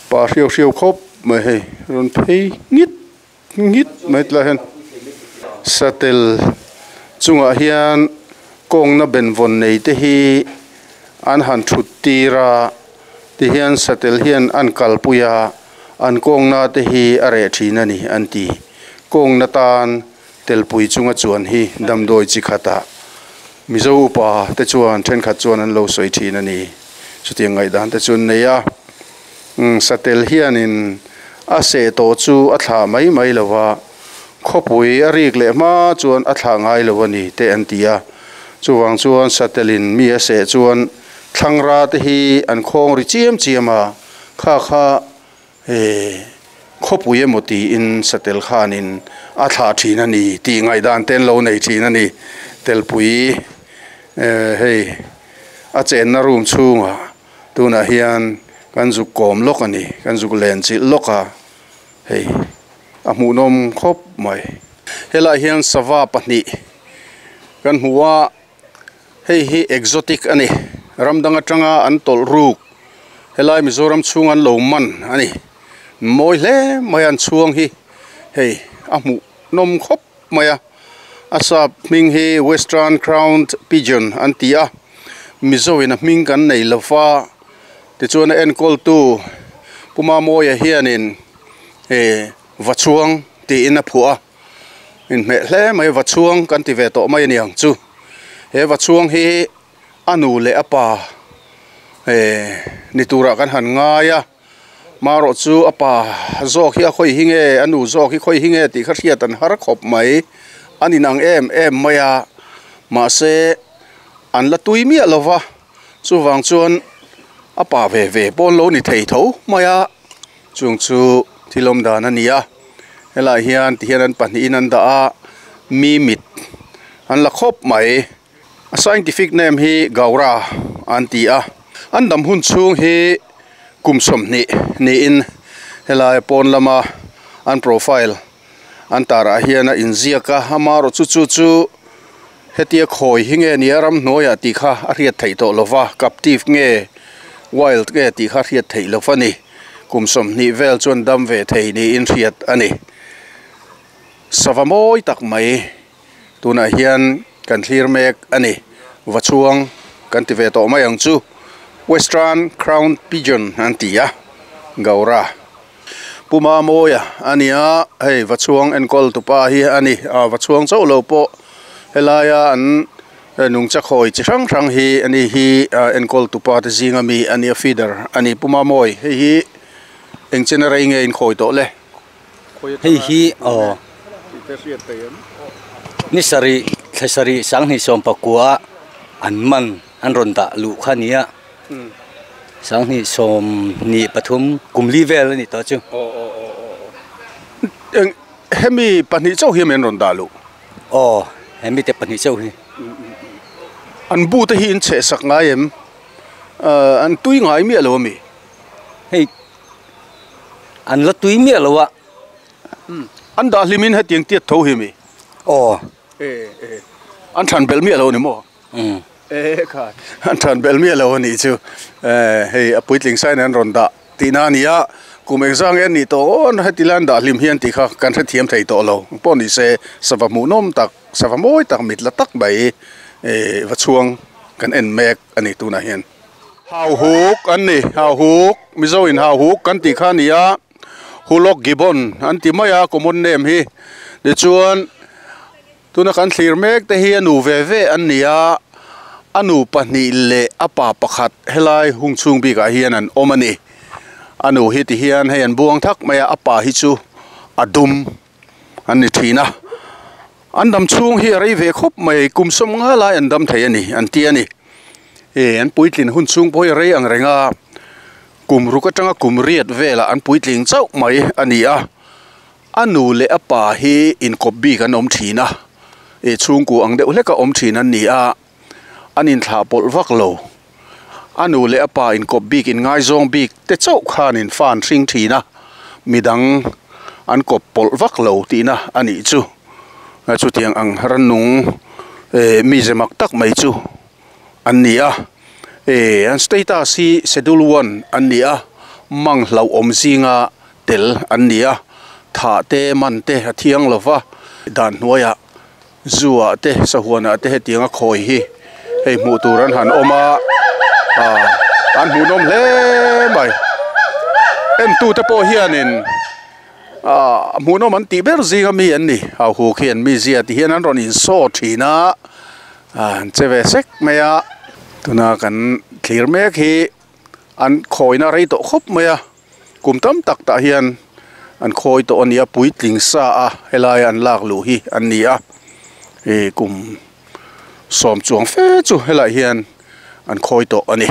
pa hriau hriau khawp mai hei rawn phei ngit ngit mai tilai hian satel chungah hian kawngna benvawn nei te hi an han thut tir a tihian satel hian an kalpui a an kawngna te hi a reh thin ani an ti kawngna tan telpui chunga chuan hi damdawi chi khatah Mizo upa te chuan thenkhat chuan an lo sawi thin ani chutiang ngaihdan te chu an nei a umm satel hianin a seh tawh chu a thlah mai mai lo va khawpui a rik leh hma chuan a thlah ngai lo ani te an ti a chuvang chuan satelin mi a seh chuan thlangra te hi an khawng ri chiam chiam a kha kha eh khawpui emaw tiin satel khanin a thlah thin a ni tih ngaihdan te an lo nei thin a ni telpui eh hei a chenna room chhungah tunah hian kan zuk kawm lawk a ni kan zuk len chilh lawk a hei a hmuhnawm khawp mai helaiah hian sava pahnih kan hmu a hei hi exotic a ni ram dang atanga an tawlh ruk helai Mizoram chhung an lo man a ni mawi hle mai an chhuang hi hei a hmuh nawm khawp mai a a sap hming hi western crowned pigeon an ti a Mizo in a hming kan nei lo va tichuan a enkawl tu Puma Mawia hianin eh va chhuang tiin a phuah a inhmeh hle mai va chhuang kan ti ve tawh mai a ni ang chu he va chhuang hi a nu leh a pa eh ni turah kan han ngai a marawh chu a pa zawk hi a khawi hi nge a nu zawk hi khawi hi nge tih kha hriat an har khawp mai an inang em em mai a mahse an la tui miah lo va chuvang chuan a pa ve ve pawn lo ni thei tho mai a chung chu thil awm dan a ni a helaiah hian tihian an pahnihin an dah a mi mit an la khawp mai a scientific name hi gaura an ti a an dam hun chhung hi kum sawmhnih niin helai pawn lama an profile an tarah hian a inziak a amaherawh chu chu chu hetia khawi hi nge nia ramhnuaiah tih kha a hriat theih tawh lo va captive nge wild nge tih kha hriat theih lo va ni kum sawmhnih vel chuan dam ve thei niin hriat a ni sava mawi tak mai tunah hian kan thlir mek a ni va chhuang kan ti ve tawh mai ang chu western crown pigeon an ti a gaura Puma Mawia a ni a hei va chhuang enkawl tupa hi a ni a va chhuang chauh lo pawh helaia an nungcha khawi chi hrang hrang hi ani hi enkawl tupa te zinga mi a ni a feeder a ni Puma Mawi hei hi eng chen a rei nge in khawi tawh le hei hi aw ni sarih thla sarih sanghnih sawm pakua an man an rawn dah luh kha a ni a sanghnih sawm hnih pathum kum li vel a ni tawh chu eng hemi pahnih chauh hi an rawn dah luh aw hemi te pahnih chauh hi an bu te hi in chheh sak ngai em an tui ngai miah lo ami hei an la tui miah lo a an dah hlimin hetiang tiat tho hi mi aw an than bel miah lo ni maw um e kha an than bel miah lo ani chu hei a puitling sign an rawn dah tihna a ni a kum engzang nge ni tawh awn heti lai an dah hlim hian tih kha kan hrethiam thei tawh lo pawh ni se sava hmuhnawm tak sava mawi tak mit la tak mai eh va chhuang kan en mek ani tunah hian hau huk an ni hau huk Mizo in hau huk kan tih kha a ni a hulok gibbon an ti mai a common name hi tichuan tuna kan thlir mek te hi a nu ve ve an ni a a nu pahnih leh a pa pakhat helai hung chhung bikah hian an awm a ni a nu hi ti hian hei an buang thak mai a a pa hi chu a dum an ni thin a an dam chhung hi a rei ve khawp mai kum sawm nga lai an dam thei a ni an ti a ni e an puitlin hun chhung pawh hi a rei ang reng a kum ruk atanga kum riat velah an puitling chauh mai a ni a a nu leh a pa hi inkawp bik an awm thin a e chhungku ang deuh hlek a awm thin an ni a an inthlah pawlh vak lo a nu leh a pa inkawp bik in ngaizawng bik te chauh khan in fan hring thin a midang an kawp pawlh vak lo tihna a nih chu chutiang ang rannung eh mi ze mak tak mai chu an ni a. E an status hi schedule one an ni a mang hlo awm zinga tel an ni a tha te man te a thiang lova dan hnuaiah zuah te sahuanah te hetianga khawi hi hei hmuh tur an han awm a ah an hmuhnawm hle mai en tu te pawh hianin ah hmuhnawm an tih ber zinga mi an ni hauhuk hi an mi zia ti hian an rawn insaw thin a an che ve sek mai a tuna kan thlir mek hi an khawina rei tawh khawp mai a kum tam tak tah hian an khawi tawh a ni a puitling sa a helai an lak luh hi an ni a e kum sawm chuang fe chu helai hian an khawi tawh a ni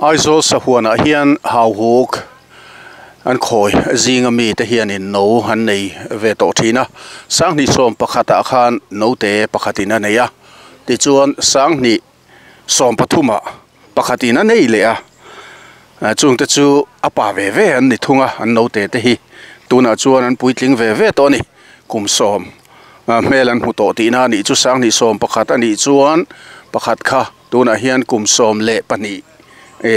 Aizawl sahuanah hian hauhuk an khawi zinga mi te hianin no an nei ve tawh thin a sanghnih sawm pakhatah khan no te pakhatin a nei a tichuan sanghnih sawm pathumah pakhatin a nei leh a chungte chu a pa ve ve an ni thung a an no te te hi tunah chuan an puitling ve ve tawh a ni kum sawm hmel an hmu tawh tihna a nih chu sanghnih sawm pakhat a nih chuan pakhat kha tunah hian kum sawm leh pahnih e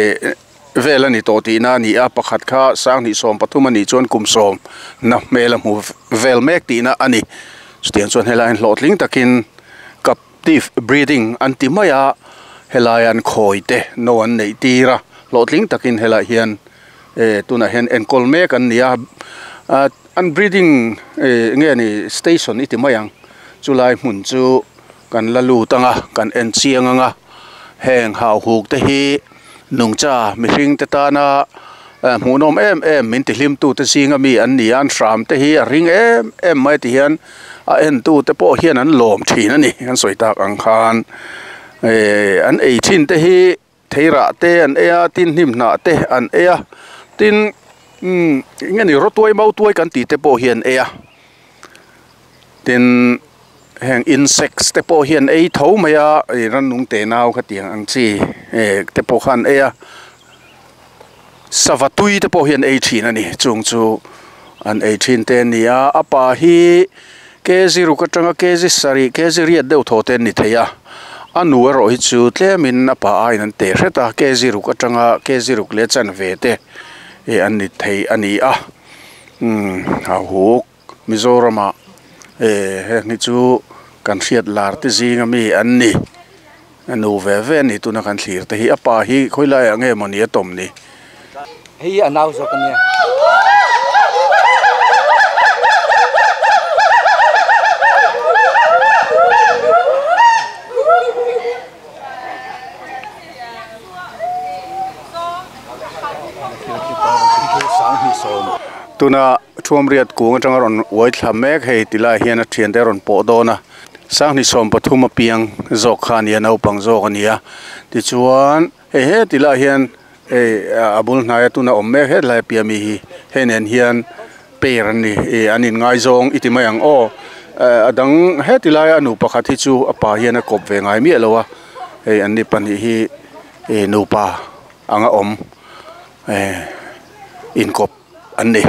vel a ni tawh tihna a ni a pakhat kha sanghnih sawm pathum a nih chuan kum sawm na hmel a hmu vel mek tihna a ni chutiang chuan helai an hlawhtling takin captive breeding an ti mai a helai an khawi te no an neih tir a hlawhtling takin helai hian e tunah hian enkawl mek an ni a an breeding e nge ni station i ti mai ang chulai hmun chu kan la lut anga kan en chiang anga heng hauhuk te hi nungcha mihring te tana hmuhnawm em em min ti hlim tu te zinga mi an ni a an hram te hi a ring em em mai ti hian a en tu te pawh hian an lawm thin a ni an sawi tak ang khan e an ei thin te hi theirah te an ei a tin hnim hnah te an ei a tin um nge ni rawtuai mautuai kan tih te pawh hian ei a tin heng insects te pawh hian ei tho mai a rannung te nau kha tiang ang chi e te pawh khan ei a savatui te pawh hian ei thin a ni chung chu an ei thin te ani a a pa hi kg ruk atanga kg sarih kg riat deuh thaw te an ni thei a a nu erawh hi chu tlemin a pa aiin an teh hret a kg ruk atanga kg ruk leh chan ve te e an ni thei a ni a um hauhuk Mizoramah e heng hi chu kan hriat lar te zinga mi an ni a nu ve ve ani tuna kan thlir te hi a pa hi khawilaiah nge maw ni a tawm ni hei a nau zawk ania tuna thuam riat kung atanga rawn uai thla mek hei tilai hian a thian te rawn pawh dawn a sanghnih sawm pathum a piang zawk kha a ni a naupang zawk a ni a tichuan hei he tilai hian hei a bul hnaia tuna awm mek hetlai a piah mi hi hei nen hian pair an ni e an inngai zawng i ti mai ang aw a dang he tilaia a nu pakhat hi chu a pa hian a kawp ve ngai miah lo a hei an ni pahnih hi e nupa anga awm e inkawp an ni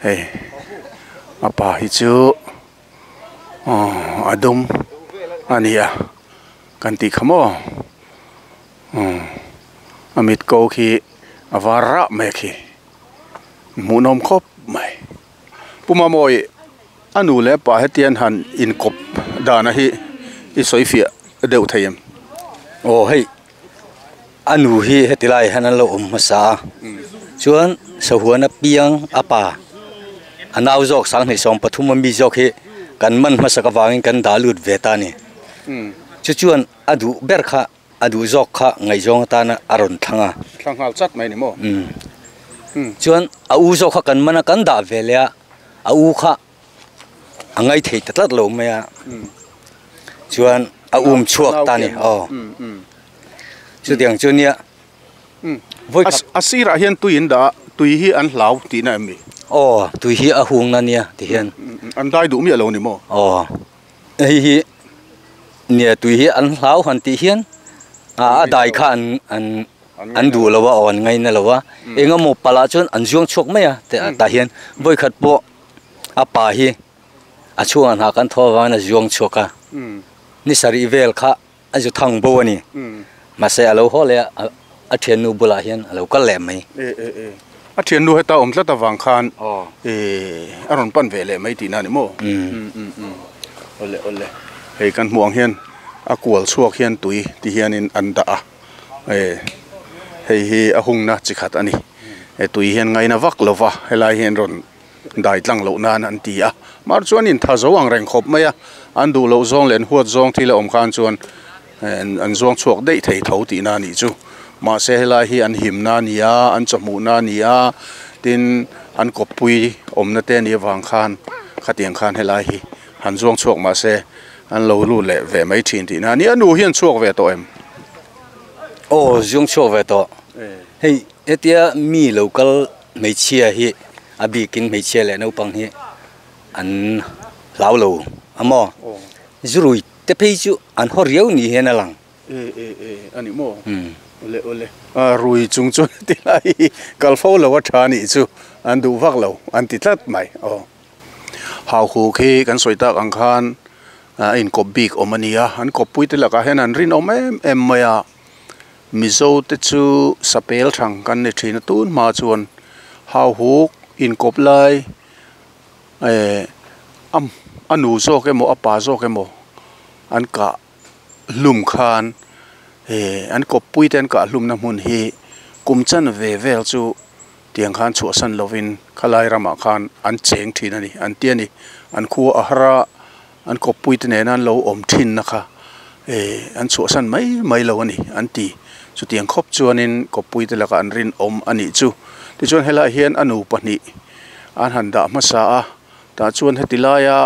hei a pa hi chu a dum a ni a kan tih kha maw a mit ko khi a var rah mai khi hmuhnawm khawp mai puma mawi a nu leh pa hetian han inkawp dana hi i sawi fiah deuh thei em aw hei a nu hi heti lai hian an lo awm hmasa a chuan sahuan a piang a pa a nau zawk sanghnih sawm pathum a mi zawk hi kan man hmasak avangin kan dah lut ve ta a ni chu chuan a duh ber kha a duh zawk kha ngaihzawng atana a rawn thlang a thlang nghal chat mai ni maw chuan a u zawk kha kan man a kan dah ve leh a a u kha a ngai thei ta tlat lo mai a chuan a um chhuak ta ni aw chutiang chu nia a sirah hian tui in dah tui hi an hlau tihna em ni aw tui hi a hung na nia ti hian an dai duh miah lo ni maw aw hei hi nia tui hi an hlau han tih hian a a dai kha an an an duh lo a aw an ngaina lo a engemaw palah chuan an zuang chhuak mai a tah hian vawikhat pawh a pa hi a chhungah hna kan thaw avangin a zuang chhuak a ni sarih vel kha a zu thang bo ani ma se alo ho le a thian nu bula hian alo kal le mai e e e a thian nu heta om tlat awang khan e aron pan ve le mai ti na ni mo um um um ole ole hei kan hmuang hian a kual chuak hian tui ti hianin an da a e hei hi a hung na chi khat ani e tui hian ngaina vak lova helai hian ron dai tlang lo nan an ti a mar chuan in tha zo ang reng khop mai a an du lo zong len huat zong thila om khan chuan an zong chuak dei thei tho ti na ni chu ma se helai hi an him na nia an chamu na nia tin an kopui om na te ni wang khan khatiang khan helai hi han zong chuak ma se an lo lu le ve mai thin ti na ni anu hian chuak ve to em o zong chuak ve to hei etia mi local mei chia hi abi kin mei chia le no pang hi an lau lo amo zurui te phei chu an ho riau ni hen alang e e e ani mo ole ole a rui chung chu ti lai kalfo lo wa tha ni chu an du vak lo an ti tlat mai o hau khu khi kan soita ang khan in kop bik omania an kop pui te laka hen an rin om em em maya mizo te chu sapel thang kan ni thina tun ma chuan hau huk in kop lai e am anu zo ke mo apa zo ke mo an ka lum khan e an kop pui ten ka lum na mun hi kumchan ve vel chu tiang khan chu san lovin khalai rama khan an cheng thin ani an ti ani an khu a hara an kop pui te nan lo om thin na kha e an chu san mai mai lo ani an ti chu tiang khop chuanin kop pui te laka an rin om ani chu ti chuan hela hian anu pahnih an han da hmasa a ta chuan hetilaia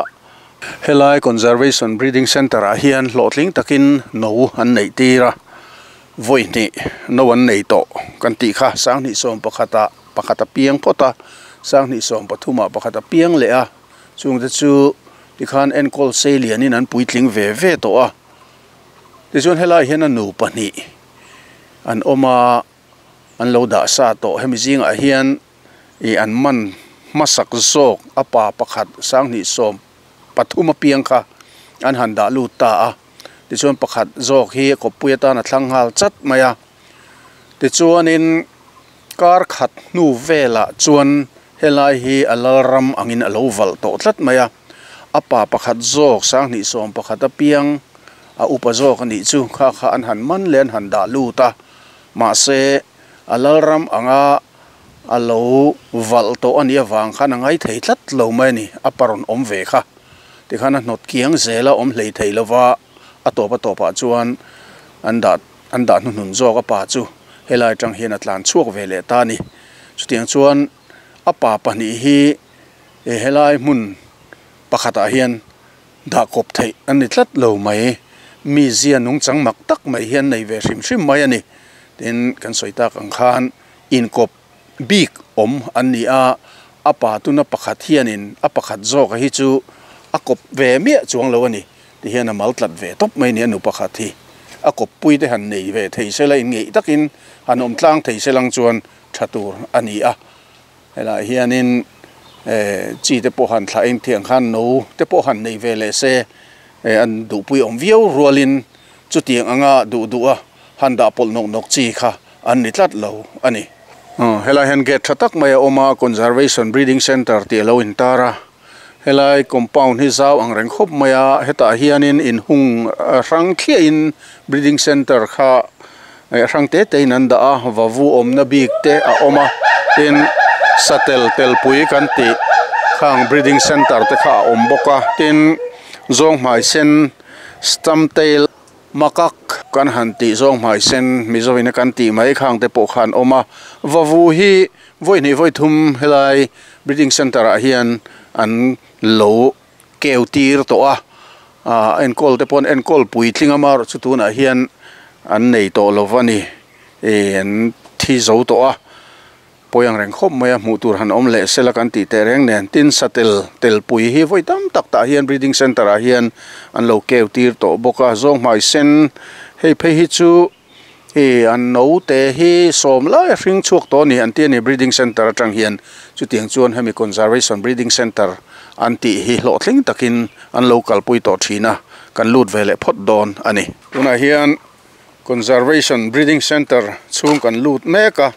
helai conservation breeding center a hian hlawhtling takin no an nei tira voi ni no an nei to kan ti kha sang ni som pakhata pakhata piang phota sang ni som pathuma pakhata piang le a chung te chu tikhan enkol seilian in an puitling ve ve to a ti chuan helai hian anu pahnih an oma an lo da sa to hemi zinga hian i an man masak zawk apa pakhat sang ni som pathuma piang kha an han da lu ta a ti chuan pakhat zawk hi kopui atan a thlang hal chat mai a ti chuanin kar khat hnu vela chuan helai hi a lalram angin a lo val tawh tlat mai a apa pakhat zawk sang ni som pakhat a piang a upa zawk ani chu kha kha an han man len han da lu ta ma se a lalram anga a lo val tawh ani awang khan a ngai thei tlat lo mai ani a paron awm ve kha tikhan a hnawt kiang zela awm hlei thei lova a tawp a tawpah chuan an dah an dah hnuhnun zawk a pa chu helai tang hian a tlan chhuak ve leh ta ani chutiang chuan a pa pahnih hi e helai hmun pakhatah hian dah kawp theih ani tlat lo mai mi zia nung chang mak tak mai hian nei ve hrim hrim mai ani tin kan sawi tak ang khan inkawp bik awm an ni a a pa tuna pakhat hianin a pakhat zawk hi chu a kawp ve miah chuang lo ani ti hian a mal tlat ve tawp mai ni anu pakhat hi a kawp pui te han nei ve thei sela in ngei takin han awm tlang thei selang chuan tha tur ani a helai hianin e chi te pawh han thla eng thiang khan no te pawh han nei ve le se e an duhpui awm viau rualin chutiang anga duh duh a han dah pawlh nawk nawk chi kha an ni tlat lo ani helai hian gate tha tak mai a awm a conservation breeding center tih alo intar a helai compound hi zau ang reng khawp mai a hetah hianin in hung hrang thliah in breeding center kha hrang te te in an dah a vavu awmna bik te a awm a tin satel telpui kan tih khang breeding center te kha a awm bawk a tin zawng hmai sen stump tail makak kan han tih zawng hmai sen mizovin a kan tih mai khang te pawh khan awm a vavu hi vawi hnih vawi thum helai breeding center ah hian an lo keu tir tawh a ah enkawl te pawh an enkawl puitling a marawh chu tunah hian an nei tawh lo ani e an thi zo tawh a pawi ang reng khawp mai a hmuh tur han awm leh sela kan tih teh reng nen tin satel telpui hi vawi tam tak tah hian breeding center ah hian an lo keu tir tawh bawk a zawng hmai sen hei phei hi chu e an no te hi sawm lai a hring chhuak tawh ani an ti ani breeding center atang hian chutiang chuan hemi conservation breeding center an tih hi hlawhtling takin an lo kalpui tawh thin a. kan lut ve leh phawt dawn a ni. Tunah hian Conservation Breeding Centre chhung kan lut mek a,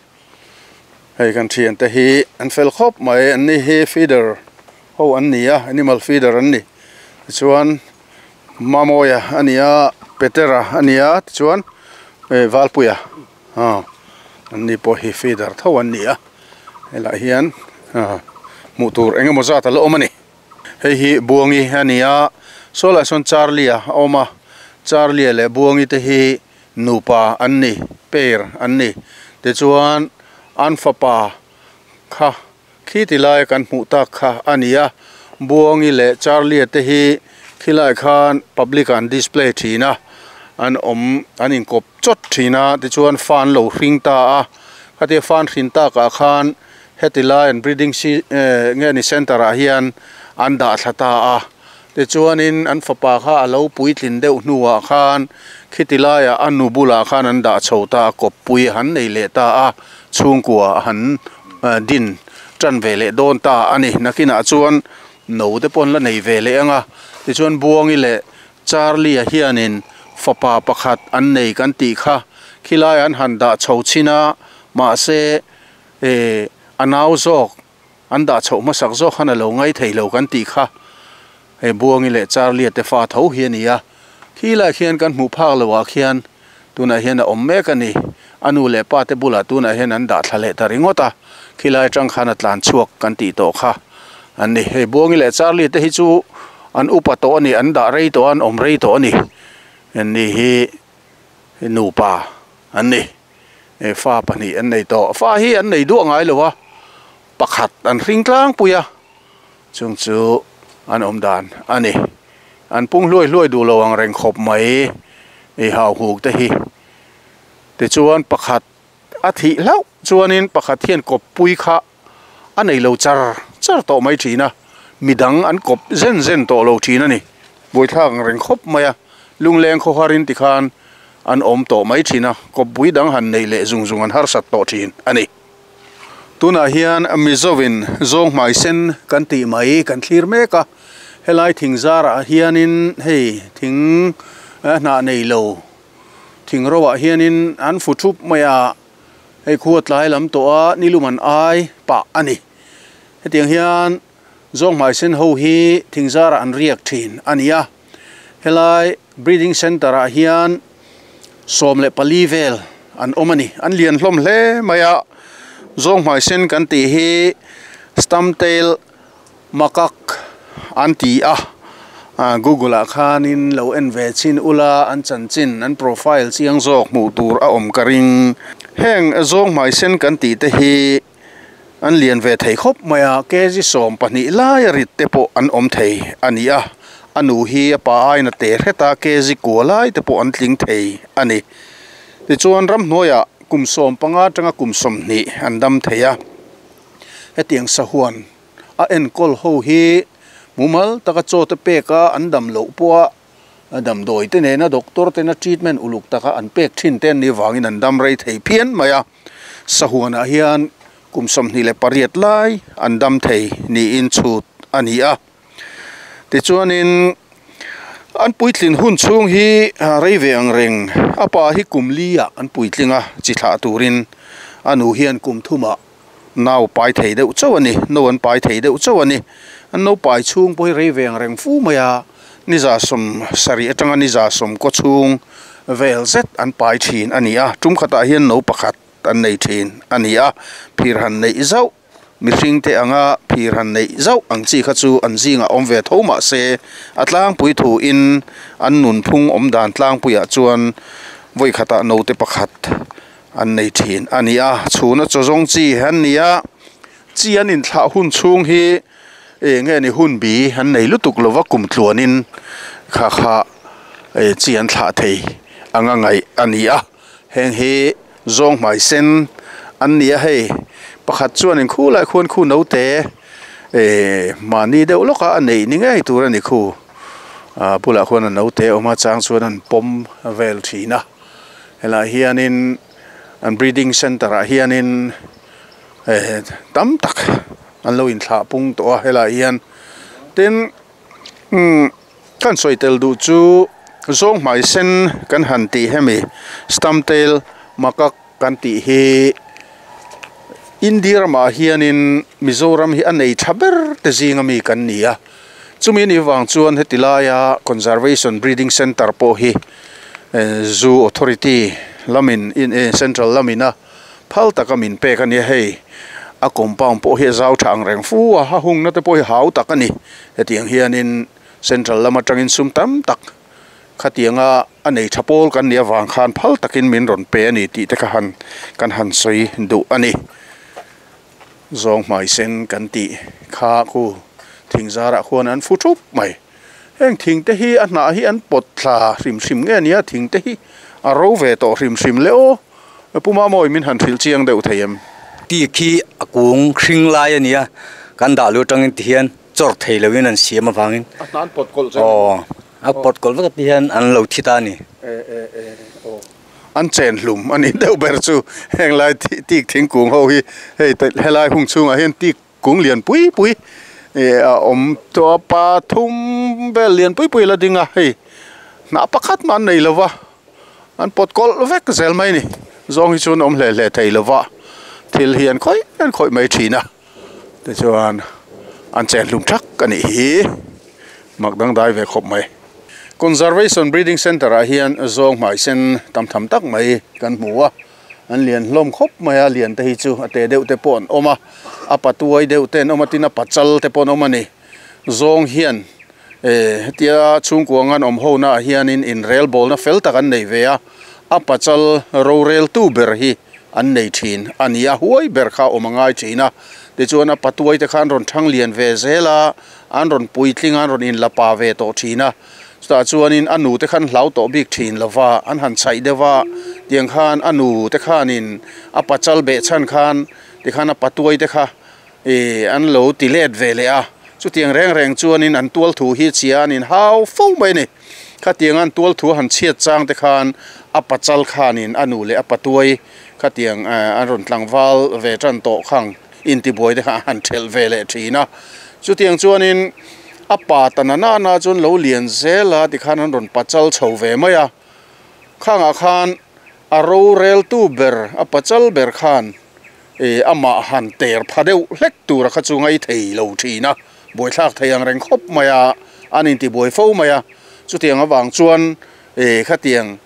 hei kan thian te hi an fel khawp mai, an ni hi feeder ho an ni a, animal feeder an ni. Tichuan Mamoya a ni a, Petera a ni a, tichuan Valpuia an ni pawh hi feeder tho an ni a, helaiah hian hmuh tur eng emaw zat a la awm a ni. Hei hi Buangi a ni a, saw lah sawn Charlie a awm a, Charlie leh Buangi te hi nupa an ni, pair an ni. Tichuan an fapa kha khi ti lai kan hmuh tak kha a ni a, Buangi leh Charlie te hi khilai khan public an display thin a, an awm an inkawp chawt thin a, tichuan fan lo hring ta a, khatia fan hrin takah khan heti lai an breeding nge ni center ah hian an dah thla ta a. Tichuanin an fapa kha a lo puitlin deuh hnuah khan khiti laiah a nu bulah khan an dah chho ta a, kawppui han nei leh ta a, chhungkua han din tan ve leh dawn ta a ni. Nakinah chuan no te pawh an la nei ve leh ang a, tichuan Buangi leh Charlie a hianin fapa pakhat an nei kan tih kha khilai an han dah chho chin a, mahse a nau zawk an dah chho hmasak zawk khan a lo ngai thei lo kan tih kha hei Buangi leh Charlie te fa tho hi a ni a, khilai khian kan hmuh phak loah khian tunah hian a awm mek a ni. A nu leh pa te bulah tunah hian an dah thla leh ta ringawt a, khilai atang khan a tlan chhuak kan tih tawh kha an ni. Hei Buangi leh Charlie te hi chu an upa tawh a ni, an dah rei tawh a, an awm rei tawh a ni. An ni hi nupa an ni, fa pahnih an nei tawh, fa hi an nei duah ngai lo a, pakhat an hring tlangpui a, chung chu an awm dan a ni. An pung hluai hluai duh lo ang reng khawp mai ei hau huk te hi. Tichuan pakhat a thih hlauh chuanin pakhat hian kawppui kha a nei lo char char tawh mai thin a, midang an kawp zen zen tawh lo thin a ni. Buaithlak ang reng khawp mai a, lungleng khaw harin tikhan an awm tawh mai thin a, kawppui dang han nei leh zung zung an harsat tawh thin a ni. Tunah hian Mizovin zawng hmai sen kan tih mai kan thlir mek a, helai thing zarah hianin hei thing hnah nei lo thing ro ah hianin an fu thup mai a, hei khu a tlai lam tawh a, nilum an ai pah a ni. Hetiang hian zawng hmai sen ho hi thing zarah an riak thin a ni a, helai breeding center ah hian sawm leh pali vel an awm a ni. An lian hlawm hle mai a, zawng hmai sen kan tih hi stump tail macaque an ti a, Google ah khanin lo en ve chin ula an chanchin an profile chiang zawk hmuh tur a awm ka ring. Heng zawng hmai sen kan tih te hi an lian ve thei khawp mai a, kg sawm pahnih lai a rit te pawh an awm thei a ni a, a nu hi a pa aina te hreta kg kua lai te pawh an tling thei a ni. Tichuan ramhnuaiah kum sawm panga atanga kum sawmhnih an dam thei a, hetiang sahuan a enkawl ho hi mumal taka chaw te pek a an dam loh pawh a damdawi te nena doctor tena treatment uluk taka an pek thin te an ni wangin an dam rei thei phian mai a. Sahuanah hian kum sawmhnih leh pariat lai an dam thei niin chhut a ni a. Tichuanin an puitlin hun chhung hi rei ve ang reng, a pa hi kum li ah an puitling a chi thlah turin a nu hian kum thumah nau pai thei deuh chauh a ni, no an pai thei deuh chauh a ni. An no pai chhung pawh hi rei ve ang reng fu mai a, ni za sawm sarih atanga ni za sawm kaw chhung vel zet an pai thin a ni a, tum khatah hian no pakhat an nei thin a ni a, phir han neih zauh mihring te anga phir han neih zauh ang chi kha chu an zingah awm ve tho mah se a tlangpui thu in an nun phung awm dan tlangpuiah chuan vawi khatah no te pakhat an nei thin a ni a. Chhuna chaw zawng chi an ni a, chi an inthlah hun chhung hi nge ni hun bi an nei lutuk lova kum tluanin kha kha chi an thlah thei anga ngai a ni a. Heng hi zawng hmai sen an ni a, hei pakhat chuan in khu lai khuan khu no te mahni deuh lawka a nei ni ngei tur a ni khu bulah khuan a no te awm a, chang chuan an pawm vel thin a. Helai hianin an breeding center ah hianin tam tak an lo inthlah pung tawh a, helai hian tin Kan sawitel duh chu zawng hmai sen kan han tih hemi stump tail macaque kan tih hi India ramah hianin Mizoram hi a nei tha ber te zinga mi kan ni a. Chumi ni wang chuan heti laia Conservation Breeding Center pawh hi Zoo Authority lamin in Central lamina phal taka min pek a nia hei. A compound pawh hi a zau tha ang reng fu a, a hungna te pawh hi hau tak a ni. Hetiang hianin Central lam atangin sum tam tak khatianga a nei tha pawl kan nia wang khan phal takin min rawn pe a ni tih te kha han kan han sawi duh a ni. Zawng hmai sen kan tih kha khu thing zarah khuan an fu thup mai. Heng thing te hi a hnah hi an pawt thla hrim hrim nge nia thing te hi a ro ve tawh hrim hrim le aw. Puma mawi min han hril chiang deuh thei em. Ti khi a kung hring lai a nia kan dah lu tangin ti hian chawr thei loin an siam awangin. A hna an pawt kawlh zel. Aw a pawt kawlh vek ti hian an lo thi ta a ni. E e e aw an chen hlum a ni deuh ber chu heng lai tik thingkung ho hi hei helai hung chhungah hian tik kung lian pui pui e a awm tawh a pathum vel lian pui pui la ding a hei hnah pakhat mah an nei lova an pawt kawlh vek zel mai a ni. Zawng hi chuan awm hle hle thei lova thil hi an khawih an khawih mai thin a tichuan an chen hlum thak a nih hi mak dangdai ve khawp mai. Conservation Breeding Center ah hian zawng hmai sen tam tham tak mai kan hmu a, an lian hlawm khawp mai a, lian te hi chu a te deuh te pawh an awm a, a patuai deuh te an awm a, tin a pachal te pawh an awm a ni. Zawng hian e hetia chhungkuang an awm ho naah hianin inrel bawlna fel tak an nei ve a, a pachal rorel tu ber hi an nei thin a ni a, huai ber kha awm a ngai thin a. Tichuan a patuai te kha an rawn thang lian ve zel a, an rawn puitling a, an rawn inlapa ve tawh thin a. Chutah chuanin a nu te khan hlau tawh bik thin lova an han chhaih deuh a, tiang khan a nu te khanin a pachal beh chhan khan tikhan a patuai te kha e an lo ti let ve leh a. Chutiang reng reng chuanin an tual thu hi chhia an inhau fo mai a ni. Khatiang an tual thu han chhiat chang te khan a pachal khanin a nu leh a patuai khatiang an rawn tlangval ve tan tawh khang intibuai te kha han thelh ve leh thin a. Chutiang chuanin a pa tana na na chuan lo lian zel a tikhan an rawn pachal chho ve mai a. Khangah khan a rorel tu ber a pachal ber khan e amah han ter pha deuh hlek tura kha chu ngai thei lo thin a, buaithlak thei ang reng khawp mai a, an intibuai fo mai a. Chutiang awang chuan e khatiang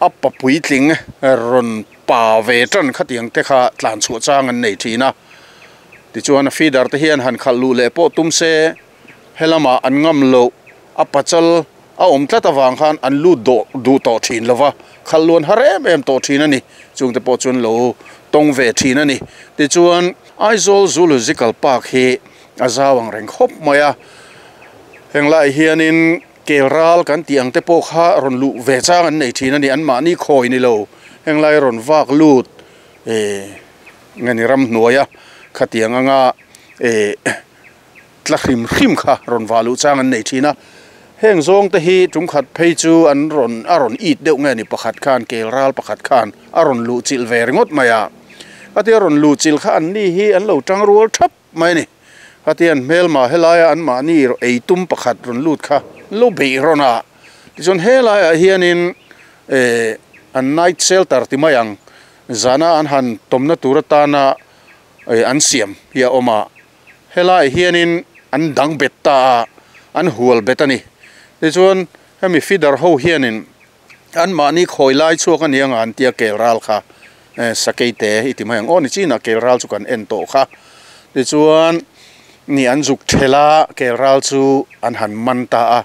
a papuitling rawn pa ve tan khatiang te kha tlan chhuah chang an nei thin a. Tichuan a feeder te hian han khalh luh leh pawh tum se helama an ngam lo a pachal a awm tlat awang khan an lut dawh duh tawh thin lova khalh luan har em em tawh thin a ni. Chungte pawh chuan lo tawng ve thin a ni. Tichuan Aizawl Zoological Park hi a zau ang reng khawp mai a, heng lai hianin kelral kan tih ang te pawh kha rawn luh ve chang an nei thin a ni. An mahni khawi ni lo heng lai rawn vak lut e nge ni ram hnuai a khatiang anga e tla hrim hrim kha rawn vah luh chang an nei thin a. Heng zawng te hi tum khat phei chu an rawn a rawn it deuh nge ni pakhat khan kelral pakhat khan a rawn luh chilh ve ringawt mai a. Khatia rawn luh chilh kha an ni hi an lo tang rual thap mai a ni. Khatian hmelma helaia an mahni ei tum pakhat rawn lut kha lo beih rawn a. Tichuan helaiah hianin e an night shelter ti mai ang zana an han tawmna tur atana e an siam hi a awm a. Helaiah hianin an dang bet ta a, an hual bet a ni. Tichuan hemi feeder ho hianin an mahni khawi lai chhuak a ni anga an tia kelral kha sakei te i ti mai ang aw ni chinah kelral chu kan en tawh kha. Tichuan ni an zuk thela kelral chu an han man ta a,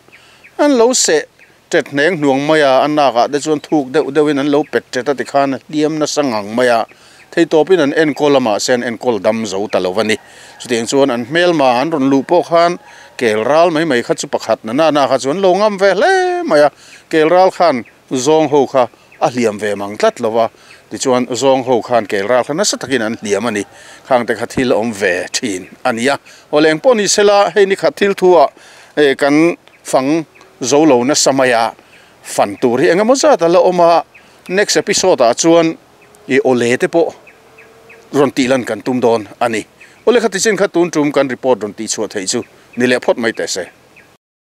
an lo seh tet hneng hnuang mai a, an nakah te chuan thuk deuh deuhin an lo pet tet a tikhan hliam nasa ngang mai a. Thei tawpin an enkawl lamah se an enkawl dam zo ta lo a ni. Chutiang chuan an hmelma an rawn luh pawh khan kelral mai mai kha chu pakhat na na na kha chuan lo ngam ve hle mai a. Kelral khan zawng ho kha a hliam ve mang tlat lova, tichuan zawng ho khan kelral kha nasa takin an hliam a ni. Khang te kha thil awm ve thin a ni a. Aw leng pawh ni sela hei ni khat thil thu ah e kan fang zo lo nasa mai a, fan tur hi engemaw zat a la awm a. Next episode ah chuan i awle te pawh rawn tih lan kan tum dawn a ni. Awle kha tichin kha tun tum kan report rawn tih chhuah theih chu ni leh phawt mai teh se.